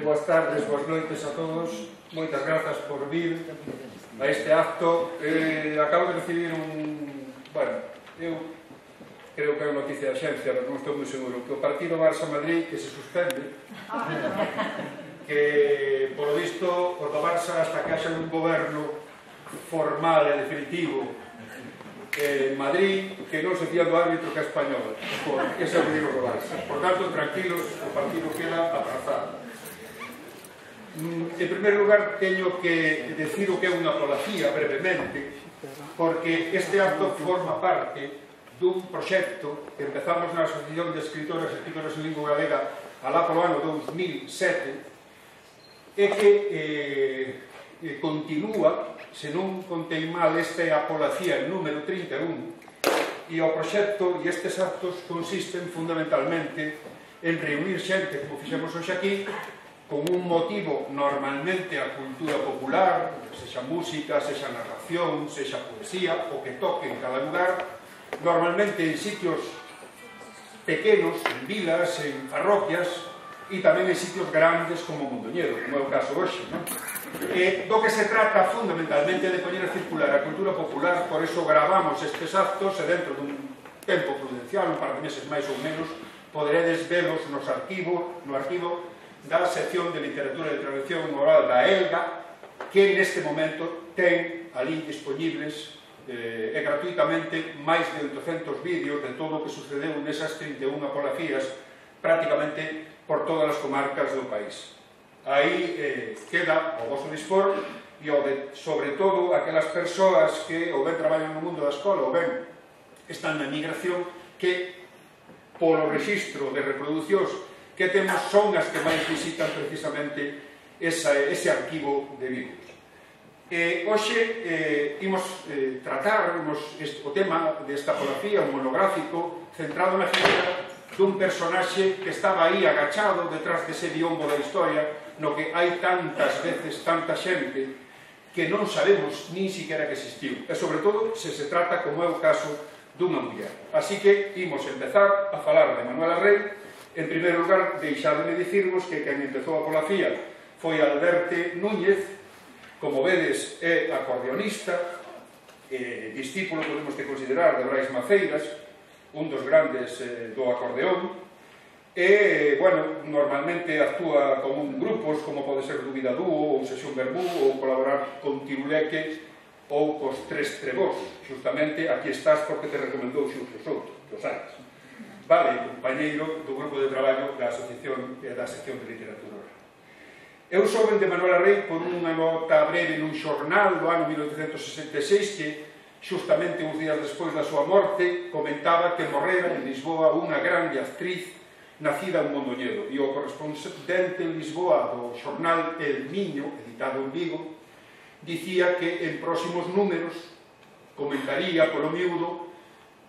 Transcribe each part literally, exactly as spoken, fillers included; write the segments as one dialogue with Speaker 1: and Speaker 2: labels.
Speaker 1: boas tardes, boas noites a todos. Moitas grazas por vir a este acto. Eh, acabo de recibir un... Bueno, eu creo que é unha noticia de axencia, pero non estou moi seguro, que o partido Barça-Madrid que se suspende, que, polo visto, o do Barça hasta que haxa un goberno formal e definitivo en Madrid, que non se fía do árbitro que é español, porque ese é o que digo do Barça. Por tanto, tranquilos, o partido queda aprazado. En primeiro lugar, teño que decir o que é unha apolacía, brevemente, porque este acto forma parte dun proxecto que empezamos na Asociación de Escritoras e Escritoras en Lingua Galega alá polo ano dous mil sete e que eh, continúa, se non contei mal, esta é a apolacía número trinta e un, e o proxecto e estes actos consisten fundamentalmente en reunir xente, como fixemos hoxe aquí, con un motivo normalmente a cultura popular, sexa música, sexa narración, sexa poesía, o que toque en cada lugar, normalmente en sitios pequenos, en vilas, en parroquias, e tamén en sitios grandes como Mondoñedo, como é o caso hoxe, non? E do que se trata fundamentalmente de poñer a circular a cultura popular, por eso gravamos estes actos e dentro dun tempo prudencial, un par de meses máis ou menos, poderedes velos nos arquivo, no arquivo da sección de literatura e traducción oral da ELGA, que neste momento ten ali disponibles eh, e gratuitamente máis de oitocentos vídeos de todo o que sucedeu nesas trinta e unha apolacías prácticamente por todas as comarcas do país. Aí eh, queda o vosso dispor e o de, sobre todo, aquelas persoas que ou ben traballan no mundo da escola ou ben están na emigración, que polo registro de reproduccións que temos son as que máis visitan precisamente esa, ese arquivo de vídeos. Eh, hoxe eh, imos eh, tratar imos este, o tema desta apolacía, un monográfico centrado na figura dun personaxe que estaba aí agachado detrás dese biombo da historia, no que hai tantas veces tanta xente que non sabemos nin siquiera que existiu, e sobre todo se se trata, como é o caso, dunha muller. Así que imos empezar a falar de Manuela Rey. En primeiro lugar, deixadme dicirvos que quen empezou a apolacía foi Alberte Núñez, como vedes é acordeonista, eh, discípulo, podemos te considerar, de Brais Maceiras, un dos grandes eh, do acordeón, e, bueno, normalmente actúa con un grupos, como pode ser Dúbida Dúo, ou Sesión Verbú, ou colaborar con Tiruleque, ou cos Tres Trebós. Justamente aquí estás porque te recomendou Xuxo Souto, que os sabes. Vale, compañeiro do grupo de traballo da Asociación e da Sección de Literatura Oral. Eu souben de Manuela Rey por unha nota breve nun xornal do ano mil oitocentos sesenta e seis que, justamente uns días despois da súa morte, comentaba que morrera en Lisboa unha grande actriz nacida en Mondoñedo, e o correspondente en Lisboa do xornal El Miño, editado en Vigo, dicía que en próximos números comentaría polo miúdo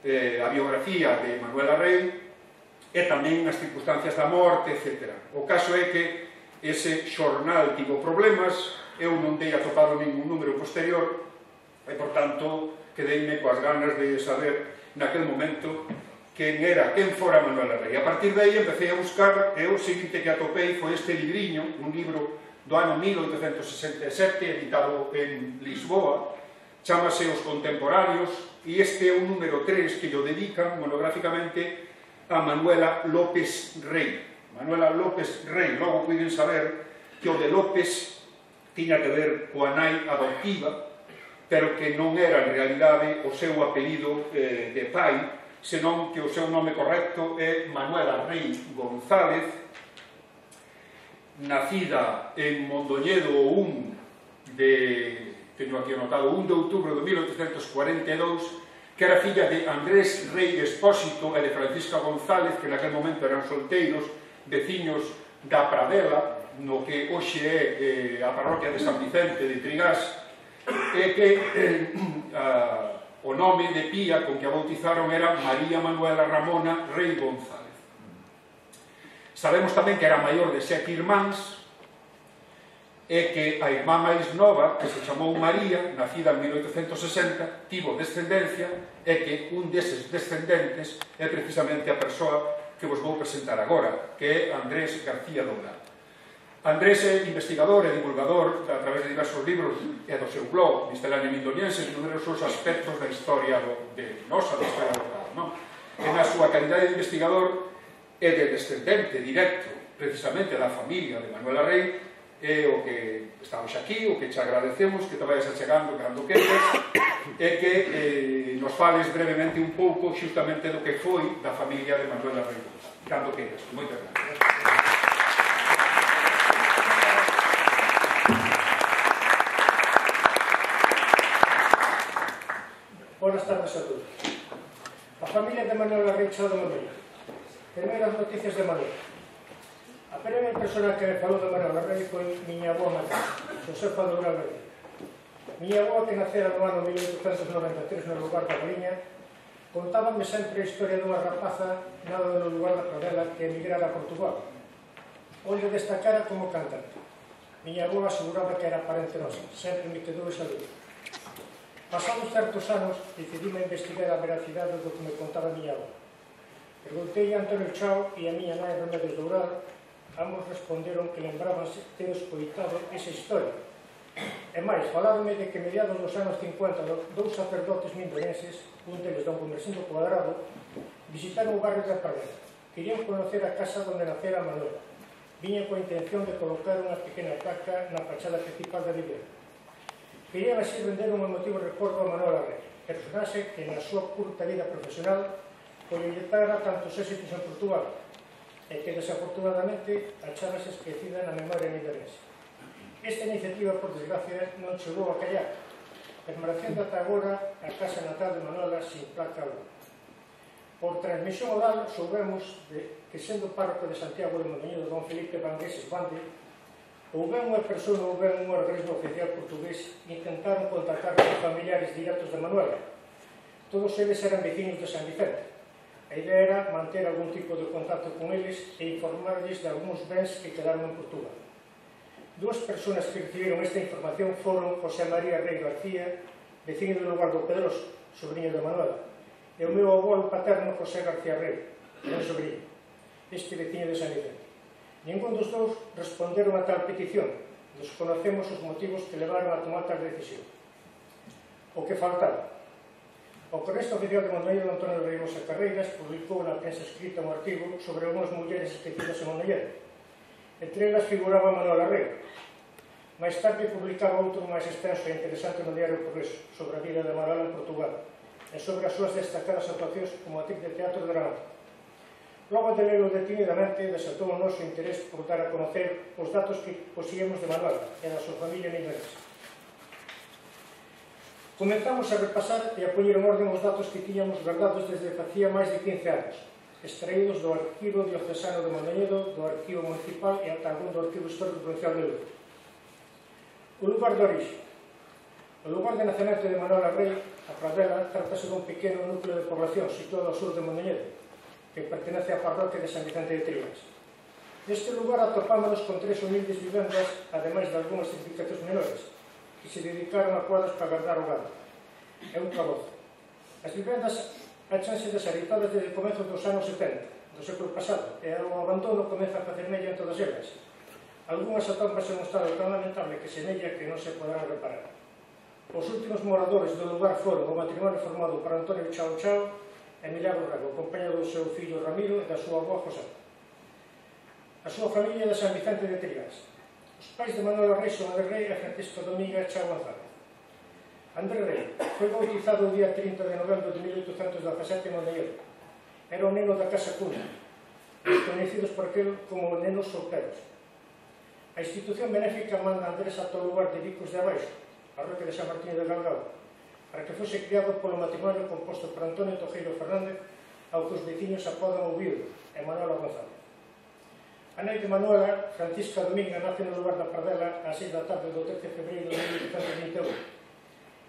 Speaker 1: eh, a biografía de Manuela Rey e tamén as circunstancias da morte, etcétera. O caso é que ese xornal tivo problemas, eu non dei atopado ningún número posterior e, por tanto, quedeime coas ganas de saber naquel momento quen era, quen fora Manuela Rey. A partir de aí empecé a buscar e o seguinte que atopei foi este libriño, un libro do ano mil oitocentos sesenta e sete, editado en Lisboa, chámase Os Contemporáneos, e este é un número tres que lo dedican monográficamente a Manuela López Rey. Manuela López Rey, logo puiden saber que o de López tiña que ver coa nai adoptiva, pero que non era en realidade o seu apelido eh, de pai, senón que o seu nome correcto é Manuela Rey González, nacida en Mondoñedo o un de, teño aquí anotado, un de outubro de mil oitocentos cuarenta e dous, que era filla de Andrés Rey Expósito e de Francisca González, que naquel momento eran solteiros, veciños da Pradela, no que hoxe é eh, a parroquia de San Vicente de Trigás, e que eh, a, o nome de pía con que a bautizaron era María Manuela Ramona Rey González. Sabemos tamén que era maior de sete irmáns e que a irmá máis nova, que se chamou María, nacida en mil oitocentos sesenta, tivo descendencia e que un deses descendentes é precisamente a persoa que vos vou presentar agora, que é Andrés García Dourado. Andrés é investigador e divulgador a través de diversos libros e do seu blog Miscelánea Mindoniense de numerosos aspectos da historia do, de nosa, da historia do grado, non? E na súa calidade de investigador e de descendente directo precisamente da familia de Manuela Rey, é o que estamos aquí, o que te agradecemos, que te vayas achegando cando queres, e que eh, nos fales brevemente un pouco xustamente do que foi da familia de Manuela Rey González. Cando queres. Moitas gracias.
Speaker 2: Buenas tardes a todos. A familia de Manuela Rey xa do Manuela. Primeiras noticias de Manuela. A primeira persona que me falou de Manuela Rey foi miña avó materna, Josefa Doura Verde. Miña avó, que nacera no ano mil oitocentos noventa e tres no lugar da Galiña, contábame sempre a historia dunha rapaza nada no lugar da Pradela que emigrara a Portugal, onde destacara como cantante. Miña avó aseguraba que era parente nosa, sempre me quedou esa dúbida. Pasados certos anos, decidime investigar a veracidade do que me contaba a miña avó. Preguntei a Antonio Chao e a miña nai Remedios Dourado. Ambos responderon que lembrabanse ter escoitado esa historia. E máis, falaronme de que mediados dos anos cincuenta dous sacerdotes mindonenses, un deles don Comercindo Cuadrado, visitaron o barrio da Pradela. Querían conocer a casa onde nacera Manuela. Viña coa intención de colocar unha pequena placa na fachada principal da vivenda. Querían así render un emotivo recordo a Manuela Rey, personaxe que na súa curta vida profesional colletara tantos éxitos en Portugal e que desafortunadamente achábase esquecida na memoria mindonense. Esta iniciativa, por desgracia, non chegou a callar, permanecendo ata agora a casa natal de Manuela sin placa alguna. Por transmisión oral soubemos de que, sendo párroco de Santiago de Mondoñedo don Felipe Vangueses Bande, ou ben unha persona ou ben un organismo oficial portugués intentaron contactar con os familiares directos de Manuela. Todos eles eran veciños de San Vicente. A idea era manter algún tipo de contacto con eles e informarles de algúns bens que quedaron en Portugal. Dúas persoas que recibiron esta información foron José María Rey García, veciño do lugar do Pedroso, sobrinho de Manuela, e o meu avó paterno José García Rey, meu sobrinho, este veciño de San Vicente. Ningún dos dous responderon a tal petición. Desconocemos os motivos que levaron a tomar tal decisión. O que faltaba. O cronista oficial de Mondoñedo, Antonio Reigosa Carreiras, publicou na prensa escrita un artigo sobre unhas mulleres esquecidas en Mondoñedo. Entre elas figuraba Manuela Rey. Mais tarde publicaba outro máis extenso e interesante no diario Progreso sobre a vida de Manuela en Portugal e sobre as súas destacadas actuacións como actriz de teatro dramático. Logo de lelo detenidamente, desatou o noso interés por dar a conocer os datos que poseíamos de Manuela e da súa familia mindonense. Comenzamos a repasar e a poñer en orden os datos que tiñamos guardados desde facía máis de quince anos, extraídos do Arquivo Diocesano de Mondoñedo, do Arquivo Municipal e ata algún do Arquivo Histórico Provincial de Lugo. O lugar de orixe. O lugar de nacemento de Manuela Rey, a Pradela, tratase dun pequeno núcleo de población situado ao sur de Mondoñedo, que pertenece á parroquia de San Vicente de Trias. Neste lugar atopámonos con tres humildes vivendas, ademais de algunhas edificacións menores, que se dedicaron a cuadros para guardar o gado. É un cabozo. As vivendas achanse deshabitadas desde o comezo dos anos setenta, do século pasado, e o abandono comeza a facer mella en todas elas. Algúnas atópanse en un estado tan lamentable que semella que non se poderán reparar. Os últimos moradores do lugar foron o matrimonio formado por Antonio Chao Chao e Milagro Rego, acompañado do seu fillo Ramiro e da súa avó José. A súa familia de San Vicente de Trias. Os pais de Manuela Rey son André Rey e Francisco Dominga Chao González. André Rey foi bautizado o día trinta de novembro de mil oitocentos dezasete en Mondoñedo. Era o neno da Casa Cuna, conhecidos por aquel como nenos solteros. A institución benéfica manda a Andrés ata o lugar de Vicos de Abaixo, a parroquia de San Martín de Galgao, para que fose criado polo matrimonio composto por Antonio Tojeiro Fernández, ao que os veciños apodan o viudo, e Manuela González. A nai de Manuela, Francisca Dominga, nace no lugar da Pradela ás seis da tarde do trece de febreiro de mil oitocentos vinte e un.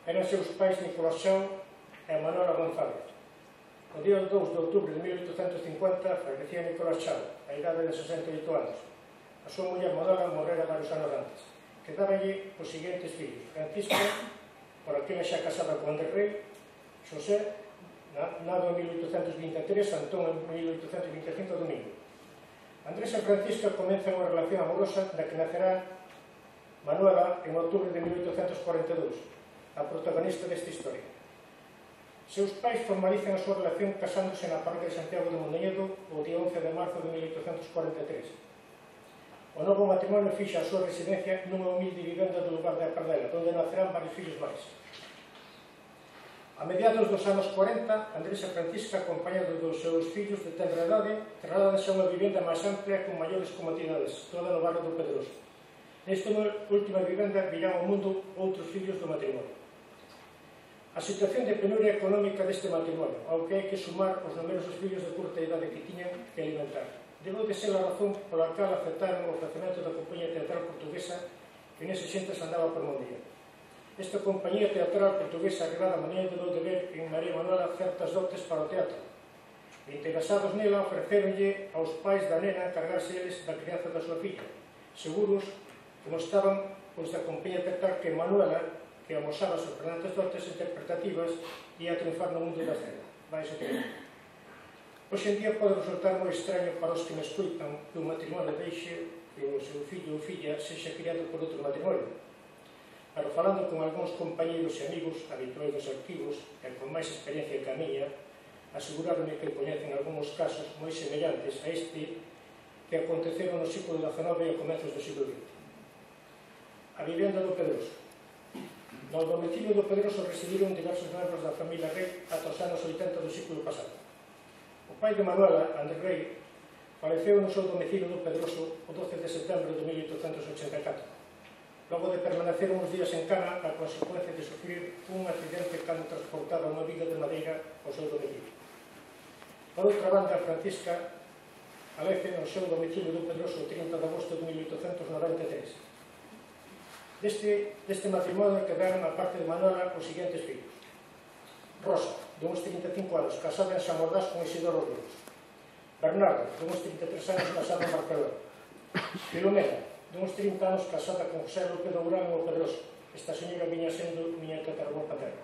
Speaker 2: Eran seus pais Nicolás Chao e Manuela González. O día dous de outubro de mil oitocentos cincuenta fallecía Nicolás Chao, a idade de sesenta e oito anos. A súa muller Manuela morrera varios anos antes. Quedáballe os seguintes fillos: Francisca, por aquela xa casada con André Rey, Xosé, nado en mil oitocentos vinte e tres, Antón en mil oitocentos vinte e cinco, Domingo. Andrés e Francisca comenzan unha relación amorosa da que nacerá Manuela en outubro de mil oitocentos cuarenta e dous, a protagonista desta historia. Seus pais formalizan a súa relación casándose na parroquia de Santiago de Mondoñedo o día once de marzo de mil oitocentos cuarenta e tres. O novo matrimonio fixa a súa residencia nunha humilde vivenda do lugar de Apardela, onde nacerán varios fillos máis. A mediados dos anos cuarenta, Andrés e Francisca, acompañados dos seus fillos de tenra idade, trasladanse a unha vivenda máis amplia con maiores comodidades, toda no barrio do Pedroso. Nesta última vivenda virán ao mundo outros fillos do matrimonio. A situación de penuria económica deste matrimonio, ao que hai que sumar os numerosos fillos de curta idade que tiñan que alimentar, debeu de ser a razón pola cal aceptaron o ofrecemento da compañía teatral portuguesa que nese xentes andaba por Mondía. Esta compañía teatral portuguesa arribada a maneira debeu de ver en María Manuela certas dotes para o teatro. E interesados nela ofreceronlle aos pais da nena encargarse eles da crianza da súa filla, seguros que mostraban pois, da compañía teatral que Manuela, que amosaba sorprendentes dotes interpretativas, ia a triunfar no mundo da escena. Vai ser que hoxe en día pode resultar moi extraño para os que me escuitan que un matrimonio deixe que o seu fillo ou filla sexa criado por outro matrimonio. Pero falando con algúns compañeros e amigos habituais dos arquivos e con máis experiencia que a miña, aseguraronme que coñecen algúns casos moi semellantes a este que aconteceron no século dezenove e a comezos do século vinte. A vivenda do Pedroso. No domicilio do Pedroso residiron diversos membros da familia Rei ata os anos oitenta do século pasado. O pai de Manuela, Andrés Rei, faleceu no seu domicilio do Pedroso o doce de setembro de mil oitocentos ochenta e catro, logo de permanecer uns días en cama a consecuencia de sufrir un accidente cando transportaba unha viga de madeira ao seu domicilio. Por outra banda, Francisca falece no seu domicilio do Pedroso o trinta de agosto de mil oitocentos noventa e tres. Deste, deste matrimonio quedaron, a parte de Manuela, os seguintes fillos. Rosa, de uns trinta e cinco anos, casada en Samordás con Isidoro Ríos. Bernardo, de uns trinta e tres anos, casada en Barcelona. Filomena, de uns trinta anos, casada con José López Dourán en o Pedroso. Esta señora viña sendo miña tataravó paterna.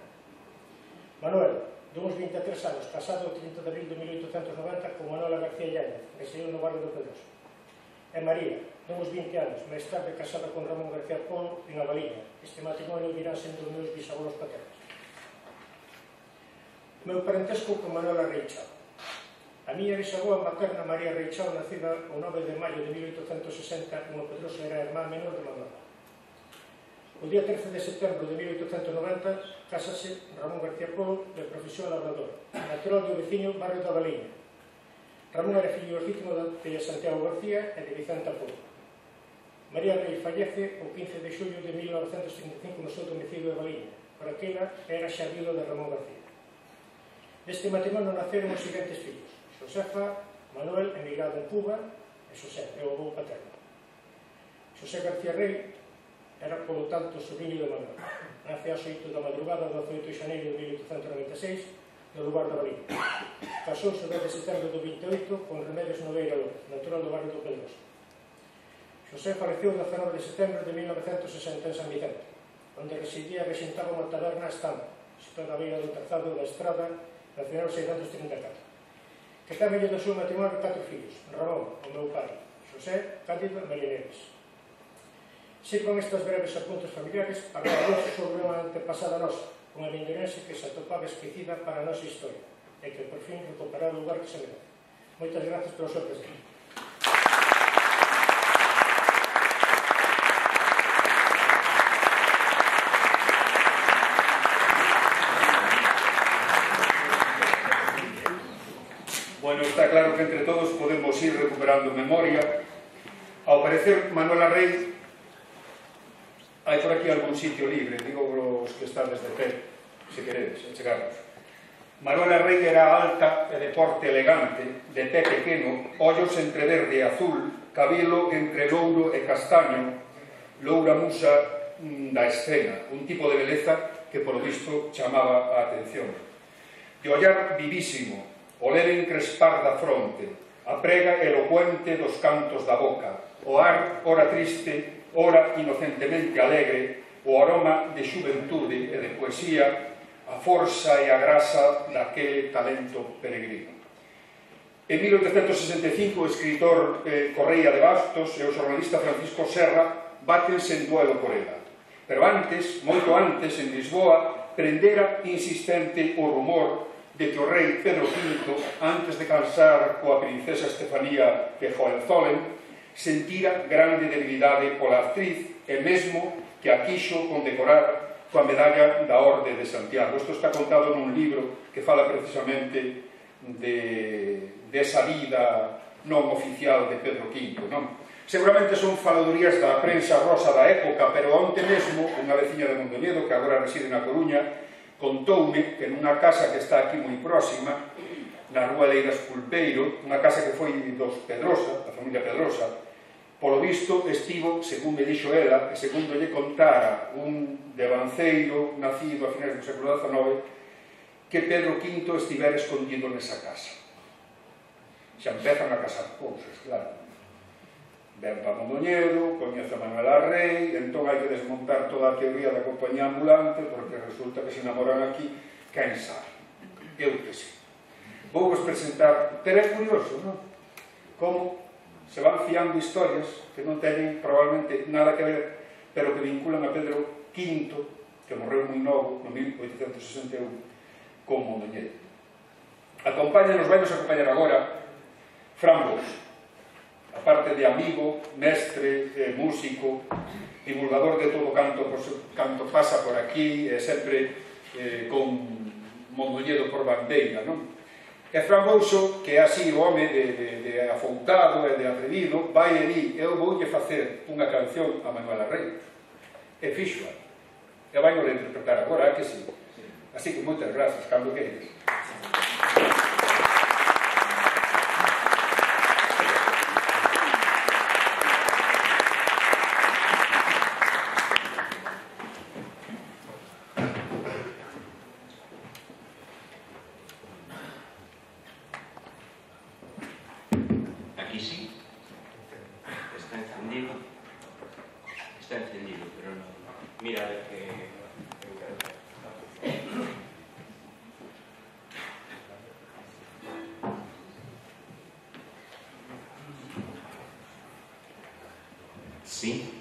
Speaker 2: Manuel, de uns vinte e tres anos, casada o trinta de abril de mil oitocentos noventa con Manuela García Llanes, que saiu no barrio do Pedroso. E María, de uns vinte anos, máis tarde casada con Ramón García Polo en Avaliña. Este matrimonio virán sendo os meus bisabuelos paternos. O meu parentesco con Manuela Reichao. A miña bisaboa materna María Reichao, nacida o nove de maio de mil oitocentos sesenta en o Pedroso, era a irmá menor de Manuela. O día trece de setembro de mil oitocentos noventa casase Ramón García Polo, de profesión labrador, natural do veciño barrio da Avaliña. Ramón era fillo legítimo de Santiago García e de Vicenta Polo. María Rei fallece o quince de xullo de mil novecentos trinta e cinco no seu domicilio de Avaliña. Por aquela era xa viuda de Ramón García. Deste matrimonio naceron os seguintes fillos: Josefa, Manuel, emigrado en Cuba, e José, é o avó paterno. José García Rei era, polo tanto, sobrinho de Manuel. Nace ás oito da madrugada do dezoito de xaneiro de mil oitocentos noventa e seis no lugar da Avaliña. Casouse o dez de setembro do vinte e oito con Remedios Nogueira López, natural do barrio do Pedroso. José faleceu o dezanove de setembro de mil novecentos sesenta en San Vicente, onde residía e rexentaba unha taberna Estampa, situada á beira do trazado da estrada nacional seiscentos trinta e catro. Que tamén lle do seu matrimonio catro fillos: Ramón, o meu pai, José, Cándido e María Neves. Sirvan estes breves apuntes familiares para falar sobre unha antepasada nosa, unha lindorense que se atopaba esquecida para a nosa historia e que por fin recuperará o lugar que se merece. Moitas gracias polo seu presente.
Speaker 1: Bueno, está claro que entre todos podemos ir recuperando memoria. Ao parecer, Manuela Rei, hai por aquí algún sitio libre, digo os que están desde pé, se queredes, chegarnos. Manuela Rei era alta e de porte elegante, de pé pequeno, ollos entre verde e azul, cabelo entre louro e castaño, loura musa da escena, un tipo de beleza que, por visto, chamaba a atención. De ollar vivísimo, o leve encrespar da fronte, a prega elocuente dos cantos da boca, o ar, ora triste, ora inocentemente alegre, o aroma de xuventude e de poesía, a forza e a grasa daquele talento peregrino. En mil oitocentos sesenta e cinco, o escritor eh, Correia de Bastos e o xornalista Francisco Serra bátense en duelo por ela. Pero antes, moito antes, en Lisboa, prendera insistente o rumor de que o rei Pedro quinto, antes de casar coa princesa Estefanía de Hohenzollern, sentira grande debilidade pola actriz e mesmo que a quixo condecorar coa medalla da Orde de Santiago. Isto está contado nun libro que fala precisamente de, de esa vida non oficial de Pedro quinto, non? Seguramente son faladurías da prensa rosa da época, pero onte mesmo unha veciña de Mondoñedo, que agora reside na Coruña, contoume que nunha casa que está aquí moi próxima, na rúa Leiras Pulpeiro, unha casa que foi dos Pedrosa, da familia Pedrosa, polo visto estivo, según me dixo ela, e segundo lle contara un devanceiro nacido a finais do século dezanove, que Pedro quinto estivera escondido nesa casa. Xa empezan a casar cousas, claro. Ven para Mondoñedo, coñece a Manuela Rei, entón hai que desmontar toda a teoría da compañía ambulante, porque resulta que se enamoran aquí, quen sabe. Eu que sei. Vou vos presentar, pero é curioso, non? Como se van fiando historias que non teñen probablemente nada que ver, pero que vinculan a Pedro quinto, que morreu moi novo, no mil oitocentos sesenta e un, con Mondoñedo. Acompáñanos, vai nos acompañar agora Fran Bous, aparte de amigo, mestre, eh, músico, divulgador de todo canto, canto pasa por aquí, e sempre eh, con Mondoñedo por bandeira, non? E Fran Bouso, que é así o home de, de, de afoutado e de atrevido, vai e di, eu voulle facer unha canción a Manuela Rei. E fixoa. E vai nos interpretar agora, que sí. Así que moitas grazas, cando queres.
Speaker 3: Aquí sí. Está encendido. Está encendido, pero no. Mira, a ver que... Sí.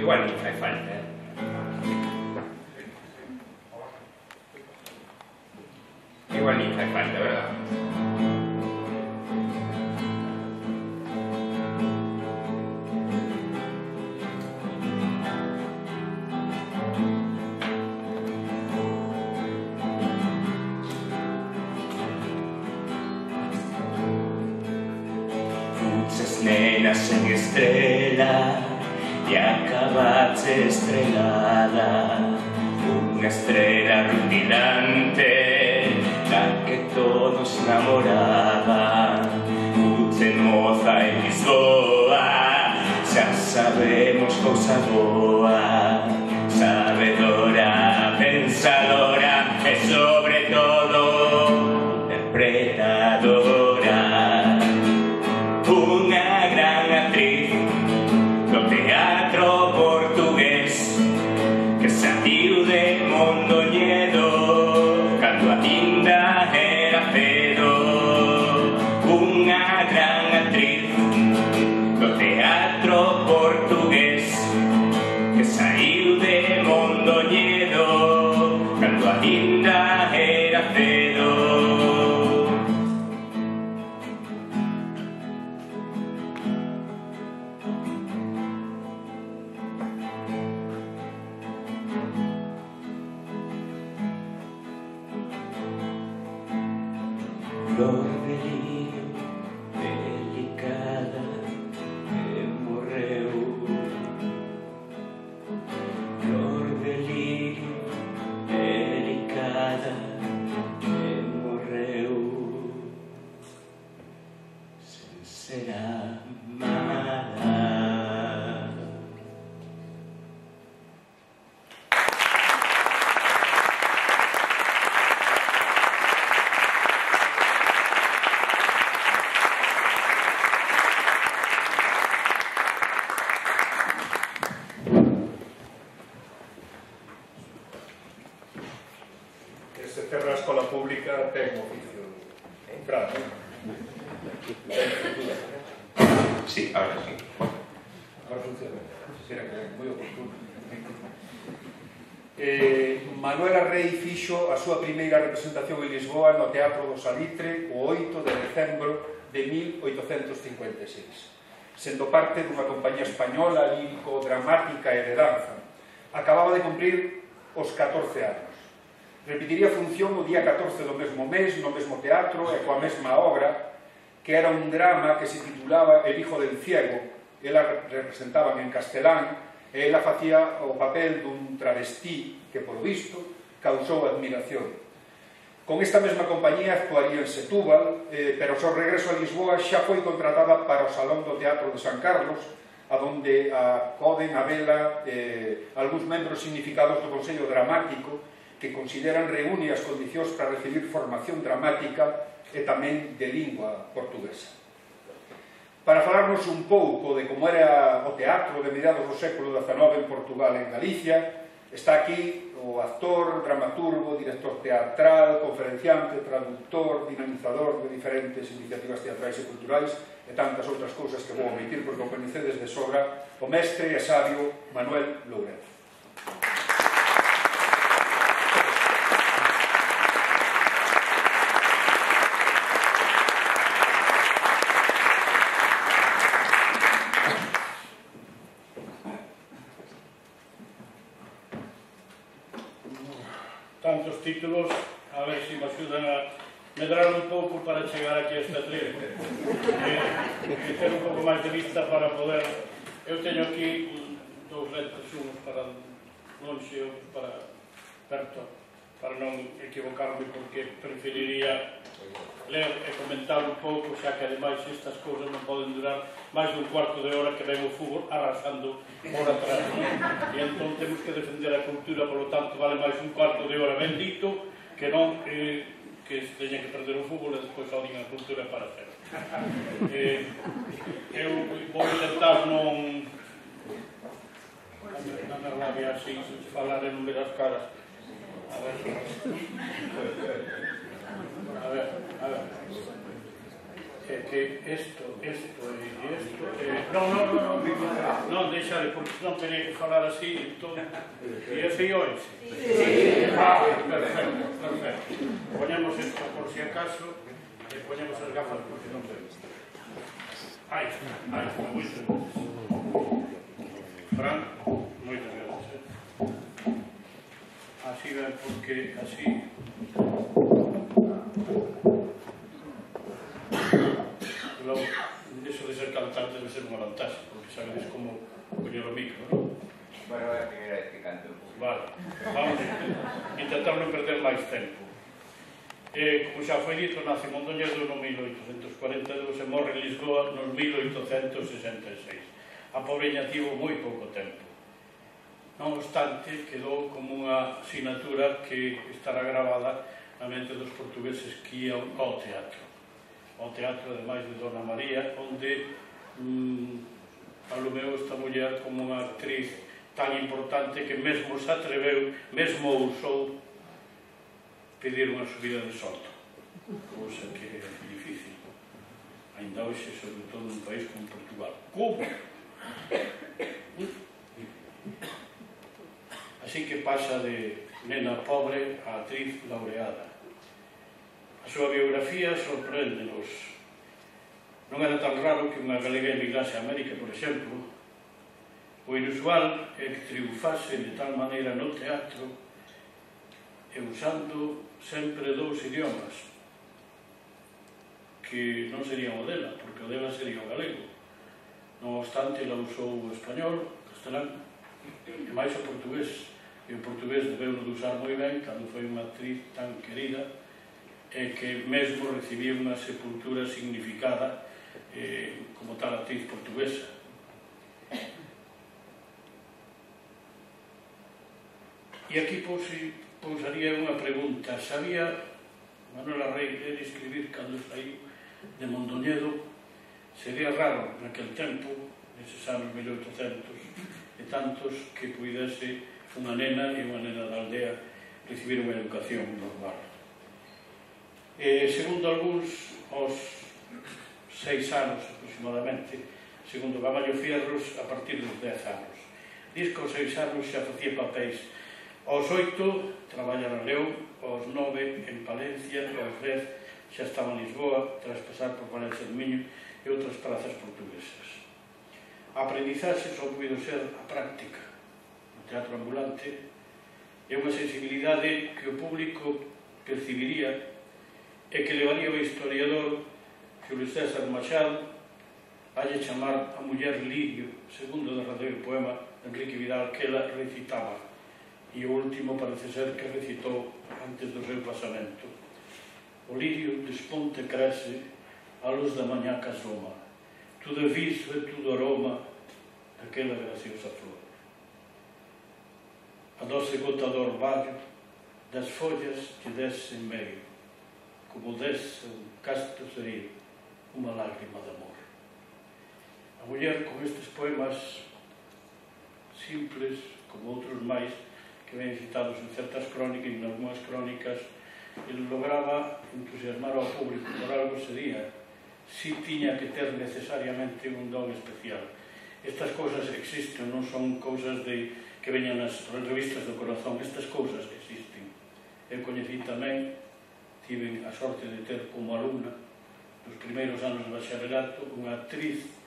Speaker 3: Igual non fai falta, eh? Igual non fai falta, verdad? Fuches nenas en estrela e acabaste estrelada, unha estrela rutilante da que todos namoraban. Fuche moza en Lisboa, xa sabemos cousa boa, sabedora, pensadora e sobre todo interpretadora, unha gran actriz do teatro portugués que saíu de Mondoñedo cando aínda era cedo. Unha gran actriz do teatro portugués que saíu de Mondoñedo cando aínda era cedo. Flor de lírio delicada que morreu, flor de lírio delicada que morreu, sen ser amada.
Speaker 4: sí, ahora sí.
Speaker 1: Ahora funciona. Será que é moi oportuno. Eh, Manuela Rei fixo a súa primeira representación en Lisboa no Teatro do Salitre o oito de decembro de mil oitocentos cincuenta e seis, sendo parte dunha compañía española lírico-dramática e de danza. Acababa de cumprir os catorce anos. Repetiría función o día catorce do mesmo mes, no mesmo teatro e coa mesma obra, que era un drama que se titulaba El hijo del ciego. Ela representaban en castelán e ela facía o papel dun travestí que, polo visto, causou admiración. Con esta mesma compañía actuaría en Setúbal, eh, pero ao seu regreso a Lisboa xa foi contratada para o Salón do Teatro de San Carlos, a donde acoden a vela eh, algúns membros significados do Consello Dramático que consideran reúne as condicións para recibir formación dramática e tamén de lingua portuguesa. Para falarnos un pouco de como era o teatro de mediados do século dezanove en Portugal e en Galicia, está aquí o actor, dramaturgo, director teatral, conferenciante, traductor, dinamizador de diferentes iniciativas teatrais e culturais e tantas outras cousas que vou omitir porque o coñecedes de sobra, o mestre e sabio Manuel Lourenço.
Speaker 5: Tantos títulos, a ver se me axudan a medrar un pouco para chegar aquí a esta trilha e ter un pouco máis de vista para poder. Eu teño aquí dous lentes, unos para longe e outros para perto, para non equivocarme, porque preferiría ler e comentar un pouco, xa que ademais estas cousas non poden durar máis dun cuarto de hora que ven o fútbol arrasando por atrás, non? E entón temos que defender a cultura, polo tanto vale máis un cuarto de hora bendito que non eh, que se teña que perder o fútbol e despois odien a cultura para hacer. Eh, eu vou intentar non non me rabia así, se falar e non ver as caras. A ver, a ver, a ver. É que isto, isto e isto... Eh, non, non, non, non, non deixare, porque non teria que falar así, entón... E ese e hoxe? Sí. Ah, perfecto, perfecto. Poñemos isto por si acaso, e poñemos as gafas porque non vemos. Aí, aí, moito. Fran, moitas gracias. Así ven, porque así... Logo, iso de ser cantante debe ser unha vantaxe, porque sabedes como coñer o micro, non?
Speaker 4: Bueno, é a primeira vez que canto.
Speaker 5: Vale, vamos a intentar non perder máis tempo. Eh, como xa foi dito, nace Mondoñedo no mil oitocentos cuarenta e dous e morre en Lisboa no mil oitocentos sesenta e seis. A pobreña tivo moi pouco tempo. Non obstante, quedou como unha asignatura que estará grabada na mente dos portugueses que ian ao teatro. Ao teatro, ademais de Dona María, onde mmm, alumeou esta muller como unha actriz tan importante que mesmo se atreveu, mesmo ousou pedir unha subida de soldo, cousa que é difícil ainda hoxe, sobre todo nun país como Portugal. Como? Así que pasa de nena pobre a actriz laureada. A súa biografía sorpréndenos. Non era tan raro que unha galega emigrase a América, por exemplo. O inusual é que triunfase de tal maneira no teatro e usando sempre dous idiomas que non serían o dela, porque o dela sería o galego. Non obstante, ela usou o español, o castelán e máis o portugués. E o portugués debeu de usar moi ben cando foi unha actriz tan querida e que mesmo recibía unha sepultura significada eh, como tal actriz portuguesa. E aquí pousaría unha pregunta. Sabía Manuela Rei ler e escribir cando saiu de Mondoñedo? Sería raro naquel tempo, neses anos mil oitocentos e tantos, que puidese unha nena e unha nena da aldea recibir unha educación normal. E, segundo algúns, aos seis anos aproximadamente, segundo Gamallo Fierros, a partir dos dez anos. Diz que aos seis anos xa facía papéis. Aos oito traballa na León, aos nove en Palencia, e aos dez xa estaba en Lisboa, tras pasar por Valencia do Miño e outras prazas portuguesas. A aprendizaxe só puido ser a práctica. O teatro ambulante é unha sensibilidade que o público percibiría e que levaría o historiador Xulio César Machado a lle chamar a muller Lirio, segundo o derradeiro poema de Enrique Vidal que ela recitaba, e o último parece ser que recitou antes do seu pasamento. O lirio desponte crece a luz da mañá que asoma, tudo viso e tudo aroma daquela graciosa flor. A doce gota do orvallo das follas que desce en medio, como desce un casto serio, unha lágrima de amor. A muller, con estes poemas simples, como outros máis, que ven citados en certas crónicas e en algunhas crónicas, ele lograba entusiasmar ao público por algo sería, si tiña que ter necesariamente un don especial. Estas cousas existen, non son cousas de, que veñan nas revistas do corazón, estas cousas existen. Eu coñecí tamén, tive a sorte de ter como alumna, nos primeiros anos de bacharelato, unha actriz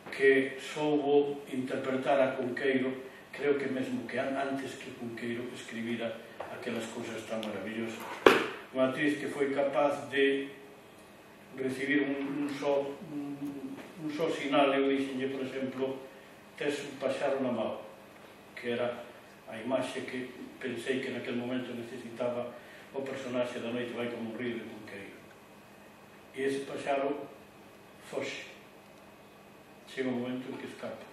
Speaker 5: que soubo interpretar a Cunqueiro, creo que mesmo que antes que Cunqueiro escribira aquelas cousas tan maravillosas. Unha actriz que foi capaz de recibir un, un, só, un, un só sinal. Eu dixenlle, por exemplo, tes un paxaro na mão, que era a imaxe que pensei que naquele momento necesitaba o personaxe da Noite vai como un río de Cunqueiro. E ese paxaro foxe. Chega un momento en que escapa.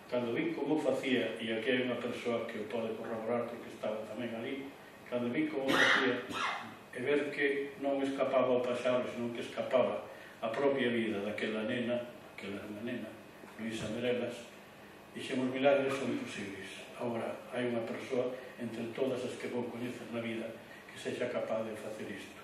Speaker 5: Cando vi como facía, e aquí hai unha persoa que o pode corroborar porque estaba tamén ali, cando vi como facía e ver que non escapaba o paxaro, senón que escapaba a propia vida daquela nena, aquela era unha nena, Luisa Merelas, dixemos, milagres son posibles. Agora, hai unha persoa entre todas as que vou coñecer na vida que sexa capaz de facer isto,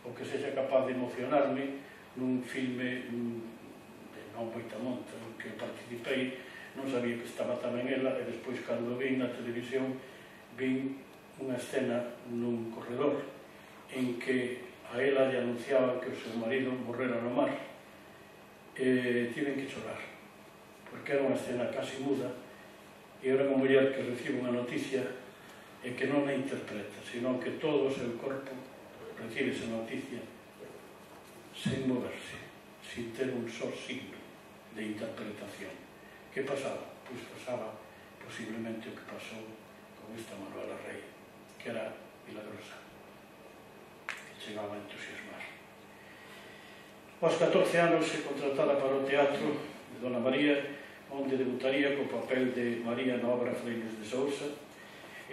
Speaker 5: ou que sexa capaz de emocionarme nun filme de non moita monta en que participei. Non sabía que estaba tamén ela, e despois, cando vi na televisión, vi unha escena nun corredor en que a ela lle anunciaba que o seu marido morrera no mar. E tiven que chorar, porque era unha escena casi muda, e era unha muller que recibe unha noticia e que non a interpreta, sino que todo o seu corpo recibe esa noticia sen moverse, sin ter un só signo de interpretación. Que pasaba? Pois pasaba posiblemente o que pasou con esta Manuela Rey, que era milagrosa, que chegaba a entusiasmar. Aos catorce anos se contratada para o teatro de Dona María, onde debutaría co papel de María na obra Freines de Sousa.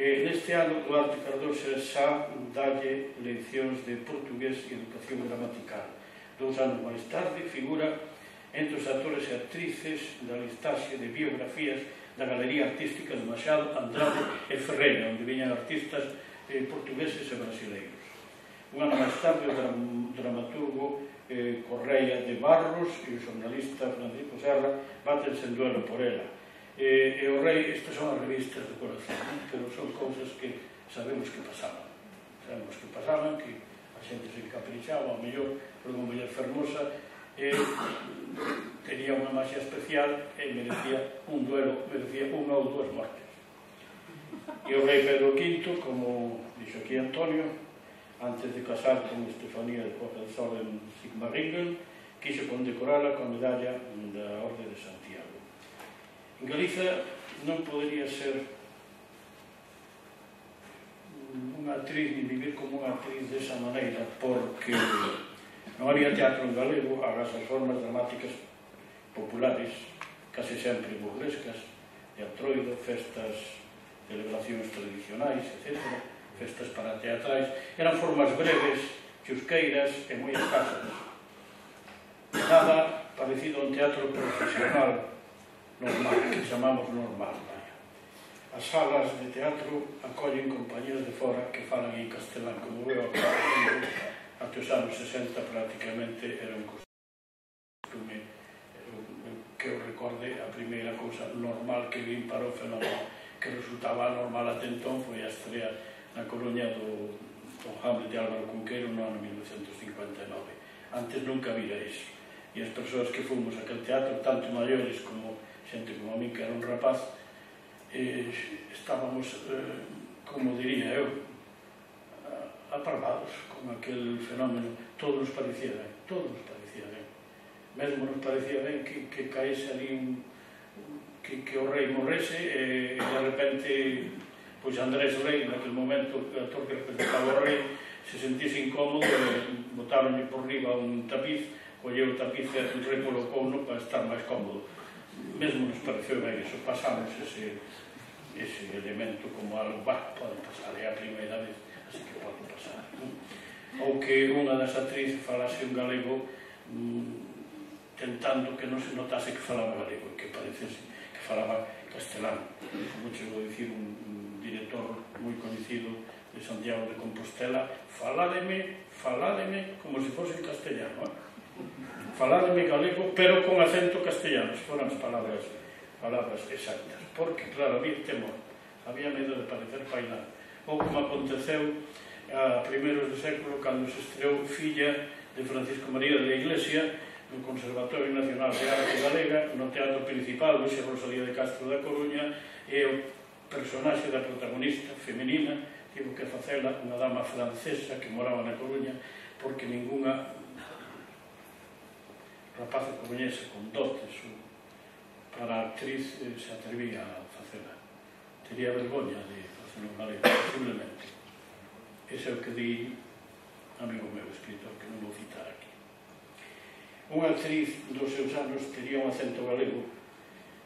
Speaker 5: E neste ano Duarte Cardoso xa dalle leccións de portugués e educación gramatical. Dous anos máis tarde figura entre os actores e actrices da listaxe de biografías da Galería Artística de Machado, Andrade e Ferreira, onde viñan artistas eh, portugueses e brasileiros. Un ano máis tarde, o dram dramaturgo eh, Correia de Barros e o xornalista Francisco Serra batense en duelo por ela. Eh, e o rei, estas son as revistas do corazón, ¿no? Pero son cousas que sabemos que pasaban. Sabemos que pasaban, que a xente se encaprichaba, ao mellor, por unha muller fermosa, e tenía unha maxia especial e merecía un duelo, merecía unha ou dúas mortes. E o rei Pedro quinto, como dixo aquí Antonio, antes de casar con Estefanía de Hohenzollern Sigmaringen, quiso condecorala coa medalla da Orde de Santiago. En Galiza non podería ser unha actriz, ni vivir como unha actriz desa maneira, porque non había teatro en galego, agás as formas dramáticas populares, case sempre burlescas, teatroido, festas, celebracións tradicionais, etcétera, festas para teatrais, eran formas breves, chusqueiras e moi escasas. Nada parecido a un teatro profesional normal, que chamamos normal. Vaya. As salas de teatro acollen compañías de fora que falan en castelán, como veo acá. Ate os anos sesenta prácticamente era un costume que eu recorde a primeira cousa normal que vin para o fenómeno que resultaba normal até entón foi a estrela na Coruña do, do Hamlet de Álvaro Cunqueiro no ano mil novecentos cincuenta e nove. Antes nunca vira iso. E as persoas que fomos a aquel teatro, tanto maiores como xente como a mí, que era un rapaz, eh, estábamos, eh, como diría eu, aparvados con aquel fenómeno. Todo nos parecía ben, todo nos parecía ben. Mesmo nos parecía ben que, que caese ali un, que, que o rei morrese e de repente pois Andrés Rei, naquele momento o actor que representaba o rei, se sentise incómodo e botaronlle por riba un tapiz, colleu o tapiz e recolocouno para estar máis cómodo. Mesmo nos pareceu ben iso, pasamos ese, ese elemento como algo, bah, pode pasar, é a primeira vez, así que pode pasar. Ou que unha das actrices falase un galego mmm, tentando que non se notase que falaba galego, que parecese que falaba castelán. Como chegou a dicir un, un director moi conhecido de Santiago de Compostela, faládeme, faládeme como se fose en castellano, eh? Faládeme galego, pero con acento castellano, foran as palabras, palabras exactas, porque, claro, había temor, había medo de parecer pailán. Ou como aconteceu a primeiros do século, cando se estreou Filla de Francisco María de la Iglesia no Conservatorio Nacional de Arte Galega, no teatro principal, Luisa Rosalía de Castro da Coruña, e o personaxe da protagonista femenina tivo que facela unha dama francesa que moraba na Coruña, porque ninguna rapaza coruñesa con dotes para a actriz se atrevía a facela. Tería vergoña de facer un galego, posiblemente. Ese é o que di amigo meu, escritor, que non vou citar aquí. Unha actriz dos seus anos tería un acento galego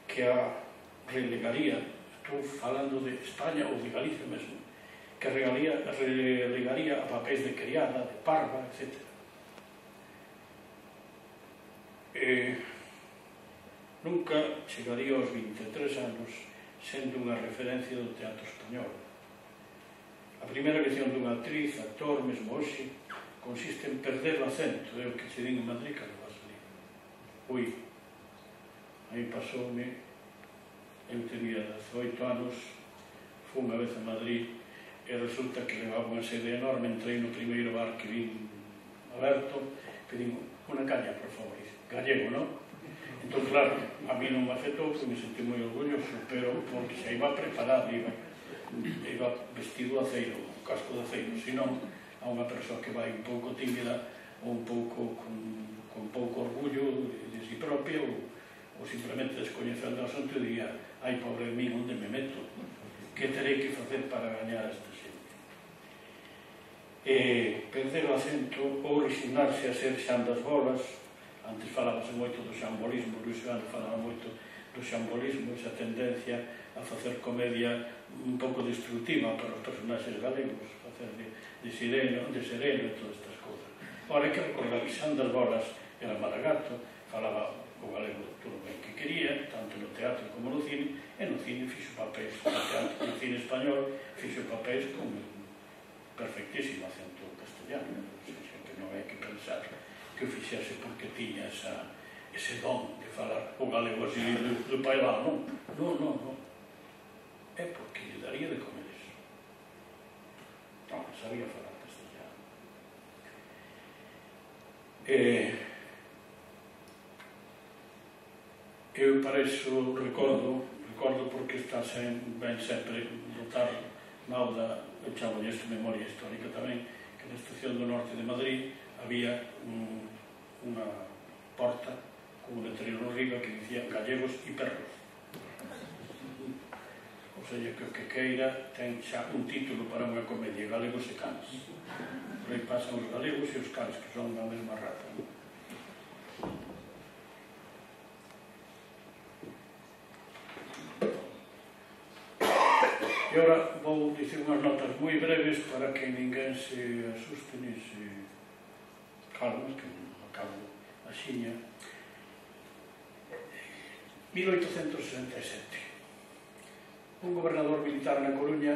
Speaker 5: que a relegaría, estou falando de España ou de Galicia mesmo, que relegaría, relegaría a papéis de criada, de parva, etcétera. Eh, nunca chegaría aos vinte e tres anos sendo unha referencia do teatro español. A primeira lección dunha actriz, actor, mesmo hoxe, consiste en perder o acento, é o que se din en Madrid cando vas ali. Ui, aí pasoume, eu tenía dezoito anos, fui unha vez a Madrid e resulta que levaba unha sede enorme, entrei no primeiro bar que vin aberto, pedín unha caña, por favor, gallego, non? Entón, claro, a mí non me afectou, porque me sentí moi orgulloso, pero porque se iba preparado, iba, iba vestido de aceiro, casco de aceiro, senón a unha persoa que vai un pouco tímida ou un pouco con, con pouco orgullo de, de si propia ou, ou simplemente descoñecendo o asunto e diría, ai, pobre de mí, onde me meto? Que terei que facer para gañar esta xente? E perder o acento ou resignarse a ser Xan das Bolas. Antes falábase moito do xambolismo, Luis Gano falaba moito do xambolismo, esa tendencia a facer comedia un pouco destructiva para os personaxes galegos, facer de, de sireno, de sereno e todas estas cousas. Ora, hai que recordar que Xan das Bolas era malagato, falaba o galego todo ben que quería, tanto no teatro como no cine, e no cine fixo papéis, no teatro, no cine español fixo papéis con perfectísimo acento castellano, que non hai que pensar que o fixese porque tiña esa, ese don de falar o galego así do, do pailán, non? Non, non, non. É porque lle daría de comer eso. Non, sabía falar castellano. E, eu para iso recordo, recordo porque está sen, ben sempre botar nauda, eu chamo isto memoria histórica tamén, que na estación do norte de Madrid había un, unha porta con un letrero no riba que dicía gallegos e perros. O sea, que o que queira ten xa un título para unha comedia, galegos e cans. Por aí pasan os galegos e os cans, que son da mesma raza. E agora vou dicir unhas notas moi breves para que ninguén se asuste ni se calma, que acabo a xiña. mil oitocentos sesenta e sete. Un gobernador militar na Coruña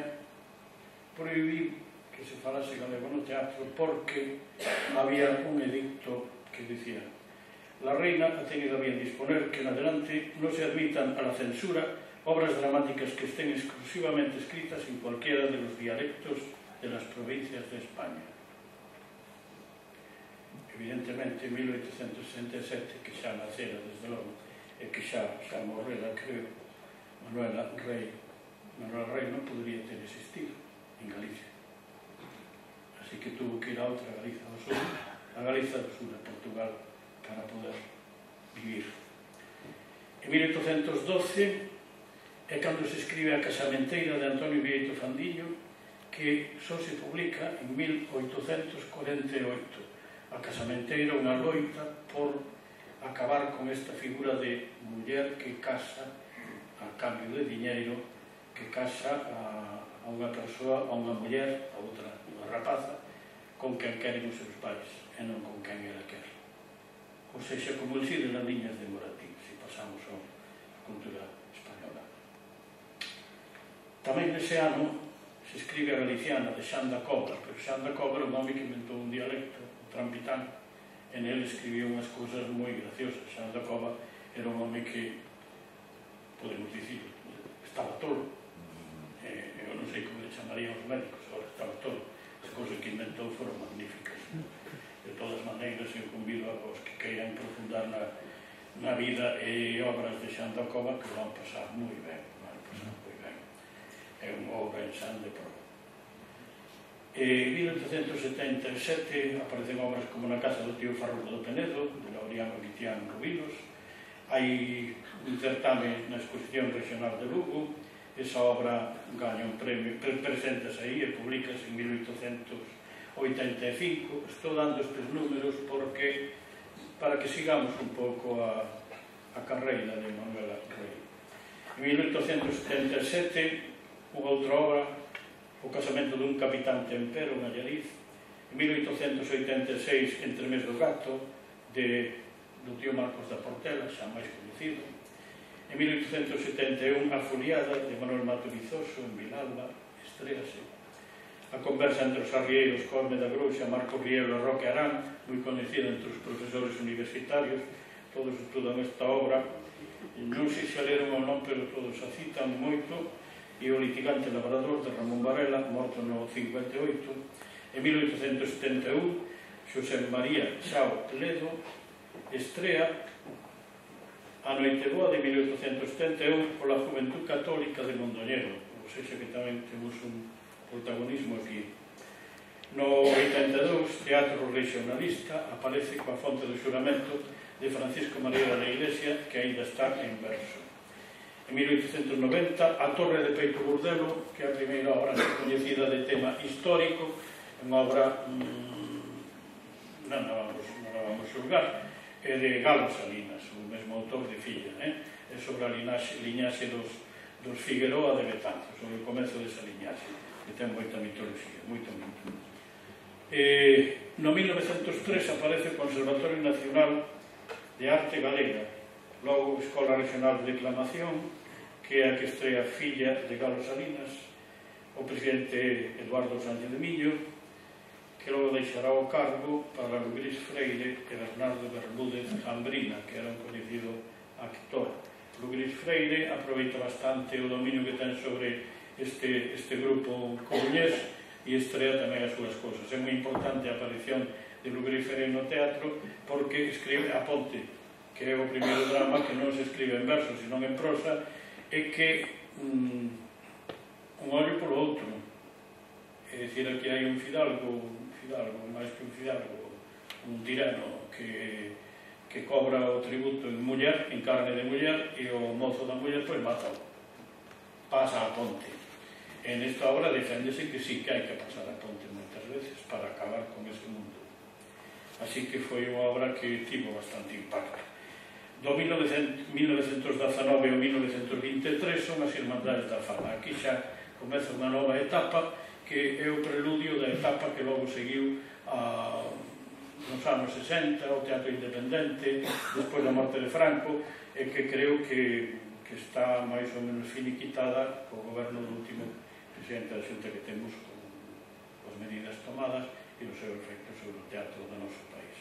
Speaker 5: prohibiu que se falase galego no teatro porque había un edicto que dicía: La reina ha tenido a bien disponer que en adelante no se admitan a la censura obras dramáticas que estén exclusivamente escritas en cualquiera de los dialectos de las provincias de España. Evidentemente, en mil oitocentos sesenta e sete, que xa nacera, desde logo, e que xa, xa morrera, creo, Manuela Rei, Manuela Rei non podría ter existido en Galicia. Así que tuvo que ir a outra Galiza do Sur, a Galiza do Sur, a Portugal, para poder vivir. En mil oitocentos doce é cando se escribe A casamenteira de Antonio Vieito Fandiño, que só se publica en mil oitocentos cuarenta e oito. A casamenteira, unha loita por acabar con esta figura de muller que casa a cambio de diñeiro, que casa a, a unha persoa, a unha muller, a outra, unha rapaza, con quen queren os seus pais, e non con quen ela quer. Ou seja, como el Cid nas liñas de Moratín, se pasamos a cultura española. Tamén nese ano se escribe a Galiciana de Xan da Cova, pero Xan da Cova era un home que inventou un dialecto, o trampitán, e nel escribiu unhas cousas moi graciosas. Xan da Cova era un home que, podemos dicir, estaba tolo, eh, eu non sei como le chamarían os médicos, agora estaba tolo. As cousas que inventou foron magníficas. De todas maneiras, eu convido a vos que queiran profundar na, na vida e obras de Xan da Cova, que van pasar moi ben, van pasar moi ben. É unha obra en Xan de prova. En mil oitocentos setenta e sete aparecen obras como Na casa do tío Farruco do Penedo, de Laureano Guitián Rubilos. Hai un certame na exposición regional de Lugo. Esa obra gaña un premio, presentase aí e publicase en mil oitocentos oitenta e cinco. Estou dando estes números porque para que sigamos un pouco a, a carreira de Manuela Rei. En mil oitocentos setenta e sete, unha outra obra, O casamento dun capitán tempero en Allariz. En mil oitocentos oitenta e seis, Entremés do gato, de, do tío Marcos da Portela, xa máis conocido. En mil oitocentos setenta e un, A foliada, de Manuel Mato Vizoso, en Vilalba, estréase. A conversa entre os arrieiros Cosme da Grouxa, Marco Rielo e Roque Arán, moi conhecida entre os profesores universitarios, todos estudan esta obra. Non sei se a leron ou non, pero todos a citan moito. E o litigante labrador de Ramón Varela, morto no cincuenta e oito. En mil oitocentos setenta e un, Xosé María Xao Ledo estrea A Noiteboa de mil oitocentos setenta e un pola Juventud Católica de Mondoñedo, ou seja que tamén temos un protagonismo aquí. No oitenta e dous, Teatro Regionalista, aparece coa Fonte do Xuramento de Francisco María da Iglesia, que aínda está en verso. En mil oitocentos noventa, A Torre de Peito Burdelo, que é a primeira obra coñecida de tema histórico, unha obra mmm, non a vamos, non a vamos xulgar, é de Galo Salinas, o mesmo autor de Filla, eh? É sobre a linaxe, liñaxe dos, dos Figueroa de Betanzos, sobre o comezo desa liñaxe, que ten moita mitoloxía, moita moita. Eh, no mil novecentos tres aparece o Conservatorio Nacional de Arte Galega, logo Escola Regional de Declamación, que é a que estrea Filla de Galo Salinas, o presidente Eduardo Sánchez de Millo, que logo deixará o cargo para Luis Freire e Bernardo Bermúdez Jambrina, que era un conhecido actor. Luis Freire aproveita bastante o dominio que ten sobre este, este grupo coruñés e estrea tamén as súas cousas. É moi importante a aparición de Luis Freire no teatro porque escribe A Ponte, que é o primeiro drama que non se escribe en verso, senón en prosa, e que um, un ollo polo outro. É dicir, aquí hai un fidalgo, un fidalgo, máis que un fidalgo, un tirano que, que cobra o tributo en muller, en carne de muller, e o mozo da muller, pois, mata-o. Pasa a ponte. En esta obra deféndese que sí que hai que pasar a ponte moitas veces para acabar con ese mundo. Así que foi unha obra que tivo bastante impacto. Do mil novecentos dezanove ao mil novecentos vinte e tres son as Irmandades da Fala. Aquí xa comeza unha nova etapa que é o preludio da etapa que logo seguiu a, nos anos sesenta, o Teatro Independente, despois da morte de Franco, e que creo que, que está máis ou menos finiquitada co goberno do último presidente da Xunta que temos, con as medidas tomadas e os seus efectos sobre o teatro do noso país.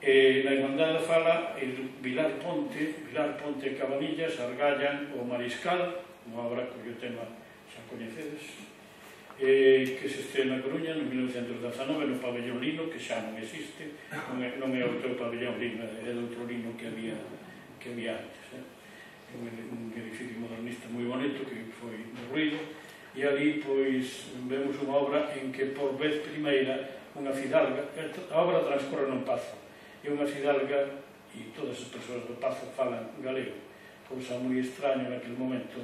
Speaker 5: E na Irmandade fala el Vilar Ponte, Vilar Ponte e Cabanillas argallan o Mariscal, unha obra cuyo tema xa coñecedes, eh, que se estrena na Coruña en mil novecentos dezanove no pabellón Lino, que xa non existe, non é, non é outro pabellón Lino, é outro Lino que había, que había antes. Eh? É un, un edificio modernista moi bonito que foi derruído, e ali pois vemos unha obra en que por vez primeira unha fidalga, a obra transcorre nun pazo, e unha fidalga e todas as persoas do pazo falan galego, cousa moi extraña naquele momento,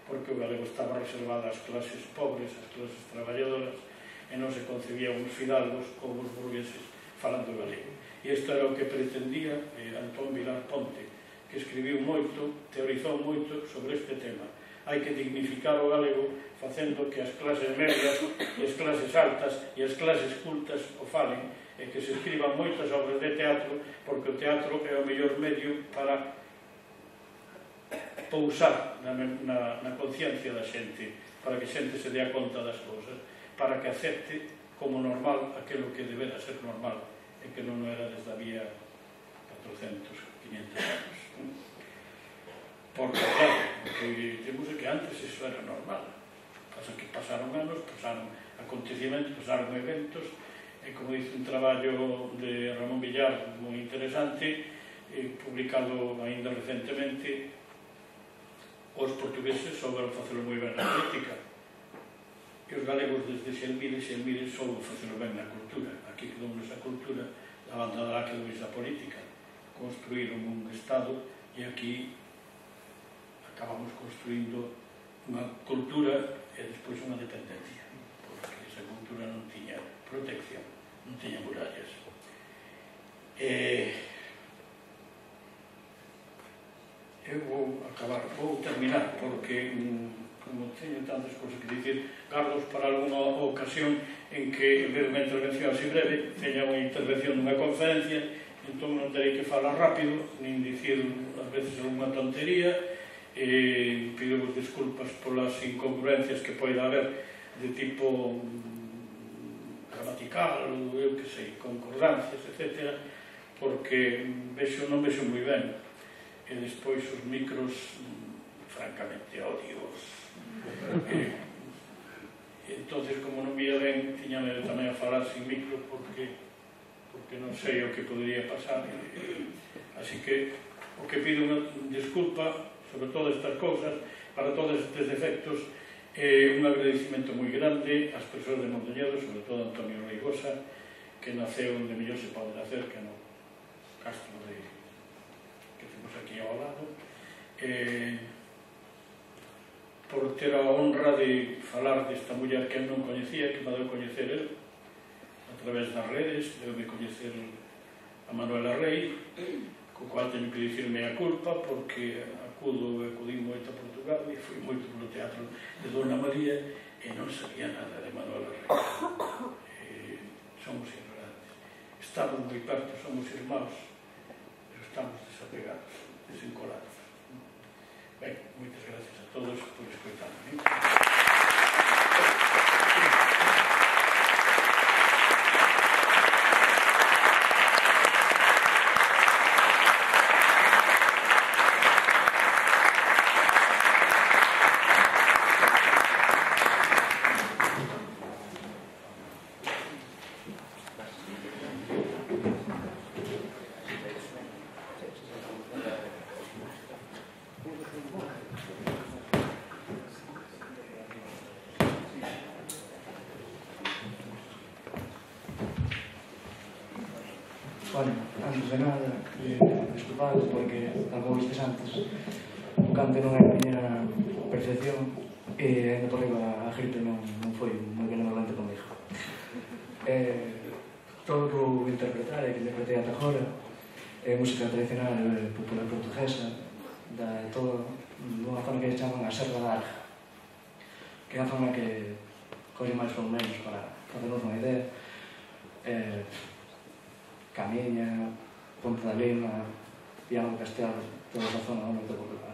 Speaker 5: porque o galego estaba reservado ás clases pobres, ás clases traballadoras, e non se concebían os fidalgos como os burgueses falando galego. E isto era o que pretendía eh, Antón Vilar Ponte, que escribiu moito, teorizou moito sobre este tema. Hai que dignificar o galego facendo que as clases medias e as clases altas e as clases cultas o falen, e que se escriban moitas obras de teatro, porque o teatro é o mellor medio para pousar na, na, na conciencia da xente, para que a xente se dea conta das cousas, para que acepte como normal aquilo que debera ser normal, e que non era desde había catrocentos, quinhentos anos. Porque, claro, o que temos é que antes iso era normal. Pasa que pasaron anos, pasaron acontecimentos, pasaron eventos, e como dice un traballo de Ramón Villar moi interesante, eh, publicado ainda recentemente, os portugueses souberon facelo moi ben na política, e os galegos desde Xelmire, Xelmire souben facelo ben na cultura. Aquí quedou esa cultura, a banda da quedou esa política, construíron un Estado, e aquí acabamos construindo unha cultura e despois unha dependencia, porque esa cultura non tiña protección, non tiña murallas. E eu vou acabar, vou terminar, porque como teño tantas cousas que dicir, gardos para alguna ocasión en que, en vez de unha intervención así breve, teña unha intervención dunha conferencia, entón non terei que falar rápido, nin dicir ás veces unha tontería, e pido vos disculpas polas incongruencias que poida haber de tipo gramatical, ou eu que sei, concordancias, etcétera, porque vexo, non vexo moi ben, e despois os micros francamente odios. E, entonces, como non vía ben, tiña medo tamén a falar sin micro, porque porque non sei o que podría pasar, así que o que pido unha disculpa sobre todas estas cousas, para todos estes defectos, e un agradecimento moi grande ás persoas de Mondoñedo, sobre todo Antonio Reigosa, que naceu onde mellor se pode nacer, que no castro de que temos aquí ao lado, e por ter a honra de falar desta muller que eu non coñecía, que me deu coñecer el a través das redes, deu-me coñecer a Manuela Rey, co cual teño que dicirme a culpa, porque acudo e acudín moito a Portugal e fui moito polo teatro de Dona María e non sabía nada de Manuela Rey. E somos ignorantes. Estamos moi perto, somos irmãos, pero estamos desapegados, desencolados. Ben, moitas gracias a todos por escoitarme.
Speaker 6: Bueno, antes de nada, eh, desculpados porque, como vistes antes, o cante non é a miña percepción e ainda por riba a gripe non, non foi moi benevolente comigo. Eh, todo o que vou interpretar e que interpretei ata agora é música tradicional eh, popular portuguesa, da todo dunha zona que se chaman a Serra da Arga, que é unha zona que colle máis ou menos para facernos unha idea. Eh, Camiña, Ponte da Lima, Viana do Castelo, toda esa zona do norte de Portugal.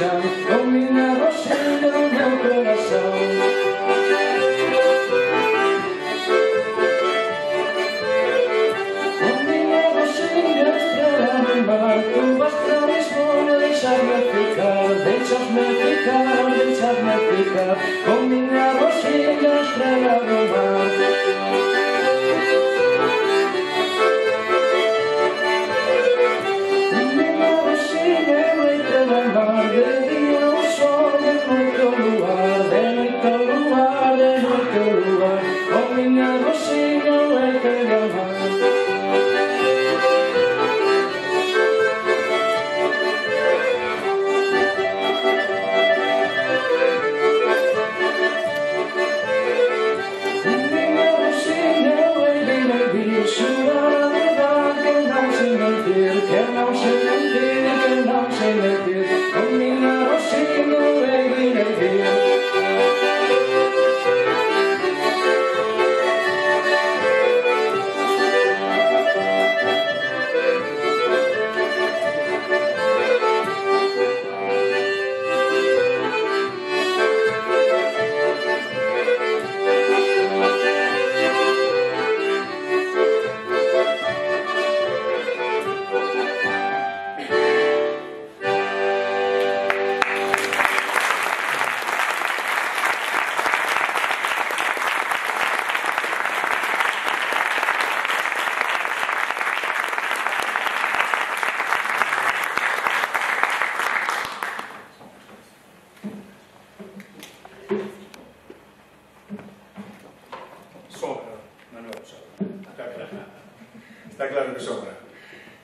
Speaker 6: deixar con miña Rosilla o meu corazón. Con miña Rosilla estrela no mar, tu vas pra Lisboa deixarme ficar, deixasme ficar, deixasme ficar, con miña Rosilla estrela no mar.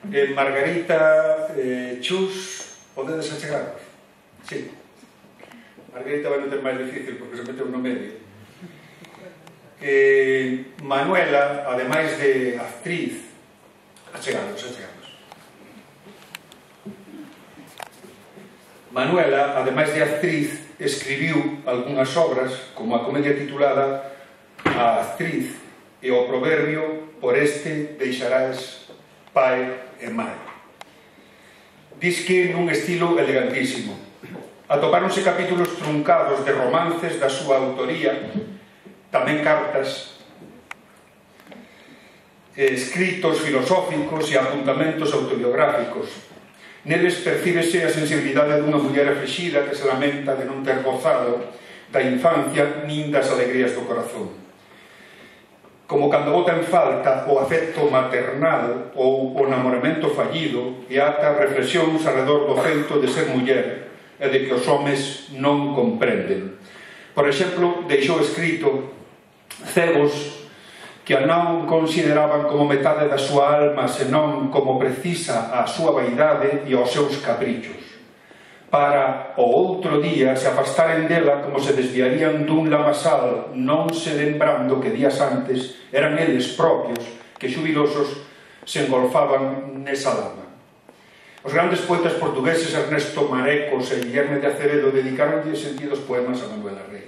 Speaker 1: Eh, Margarita, eh, Chus, podedes achegarnos? Sí. Margarita vai non ter máis difícil porque se meteu no medio. Eh, Manuela, ademais de actriz, achegarnos, achegarnos. Manuela, ademais de actriz, escribiu algunhas obras como a comedia titulada A actriz e o proverbio por este deixarás pai e mãe. Diz que nun estilo elegantísimo. Atopáronse capítulos truncados de romances da súa autoría, tamén cartas, escritos filosóficos e apuntamentos autobiográficos. Neles percíbese a sensibilidade dunha muller aflixida que se lamenta de non ter gozado da infancia nin das alegrías do corazón. Como cando bota en falta o afecto maternal ou o namoramento fallido e ata reflexións alrededor do feito de ser muller e de que os homes non comprenden. Por exemplo, deixou escrito cegos que a non consideraban como metade da súa alma senón como precisa a súa vaidade e aos seus caprichos, para o outro día se afastaren dela como se desviarían dun lamasal, non se lembrando que días antes eran eles propios que xubilosos se engolfaban nesa lama. Os grandes poetas portugueses Ernesto Marecos e Guillerme de Acevedo dedicaronlle sentidos poemas a Manuela Rei.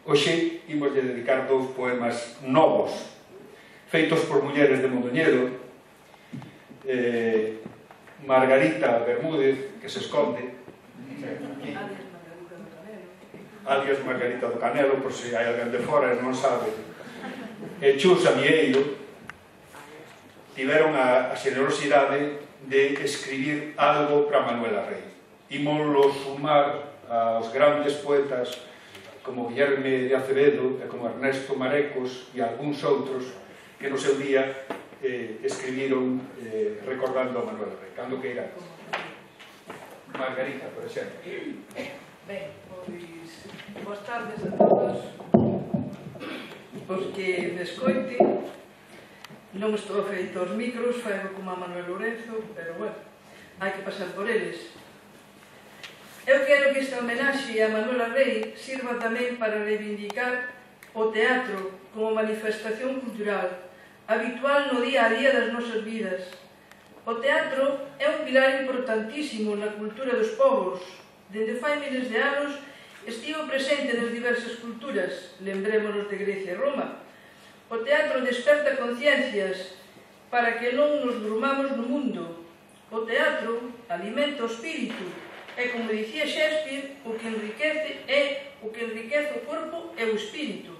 Speaker 1: Hoxe imos lle dedicar dous poemas novos, feitos por mulleres de Mondoñedo, eh, Margarita Bermúdez, que se esconde, alias Margarita do Canelo, por se hai alguén de fora e non sabe, e Chus Amieiro, tiveron a, a xenerosidade de escribir algo para Manuela Rei. Imoslo sumar aos grandes poetas como Guillerme de Acevedo e como Ernesto Marecos e algúns outros que no seu día eh, escribiron eh, recordando a Manuela Rei. Cando que irá? Margarita, por exemplo.
Speaker 7: Ben, pois, boas tardes a todos. Os que me escoite, non estou feito aos micros, fago como a Manuel Lorenzo, pero bueno, hai que pasar por eles. Eu quero que esta homenaxe a Manuela Rei sirva tamén para reivindicar o teatro como manifestación cultural habitual no día a día das nosas vidas. O teatro é un pilar importantísimo na cultura dos povos. Dende fai miles de anos estivo presente nas diversas culturas, lembrémonos de Grecia e Roma. O teatro desperta conciencias para que non nos durmamos no mundo. O teatro alimenta o espírito E como dicía Shakespeare, o que enriquece é o que enriquece o corpo e o espírito.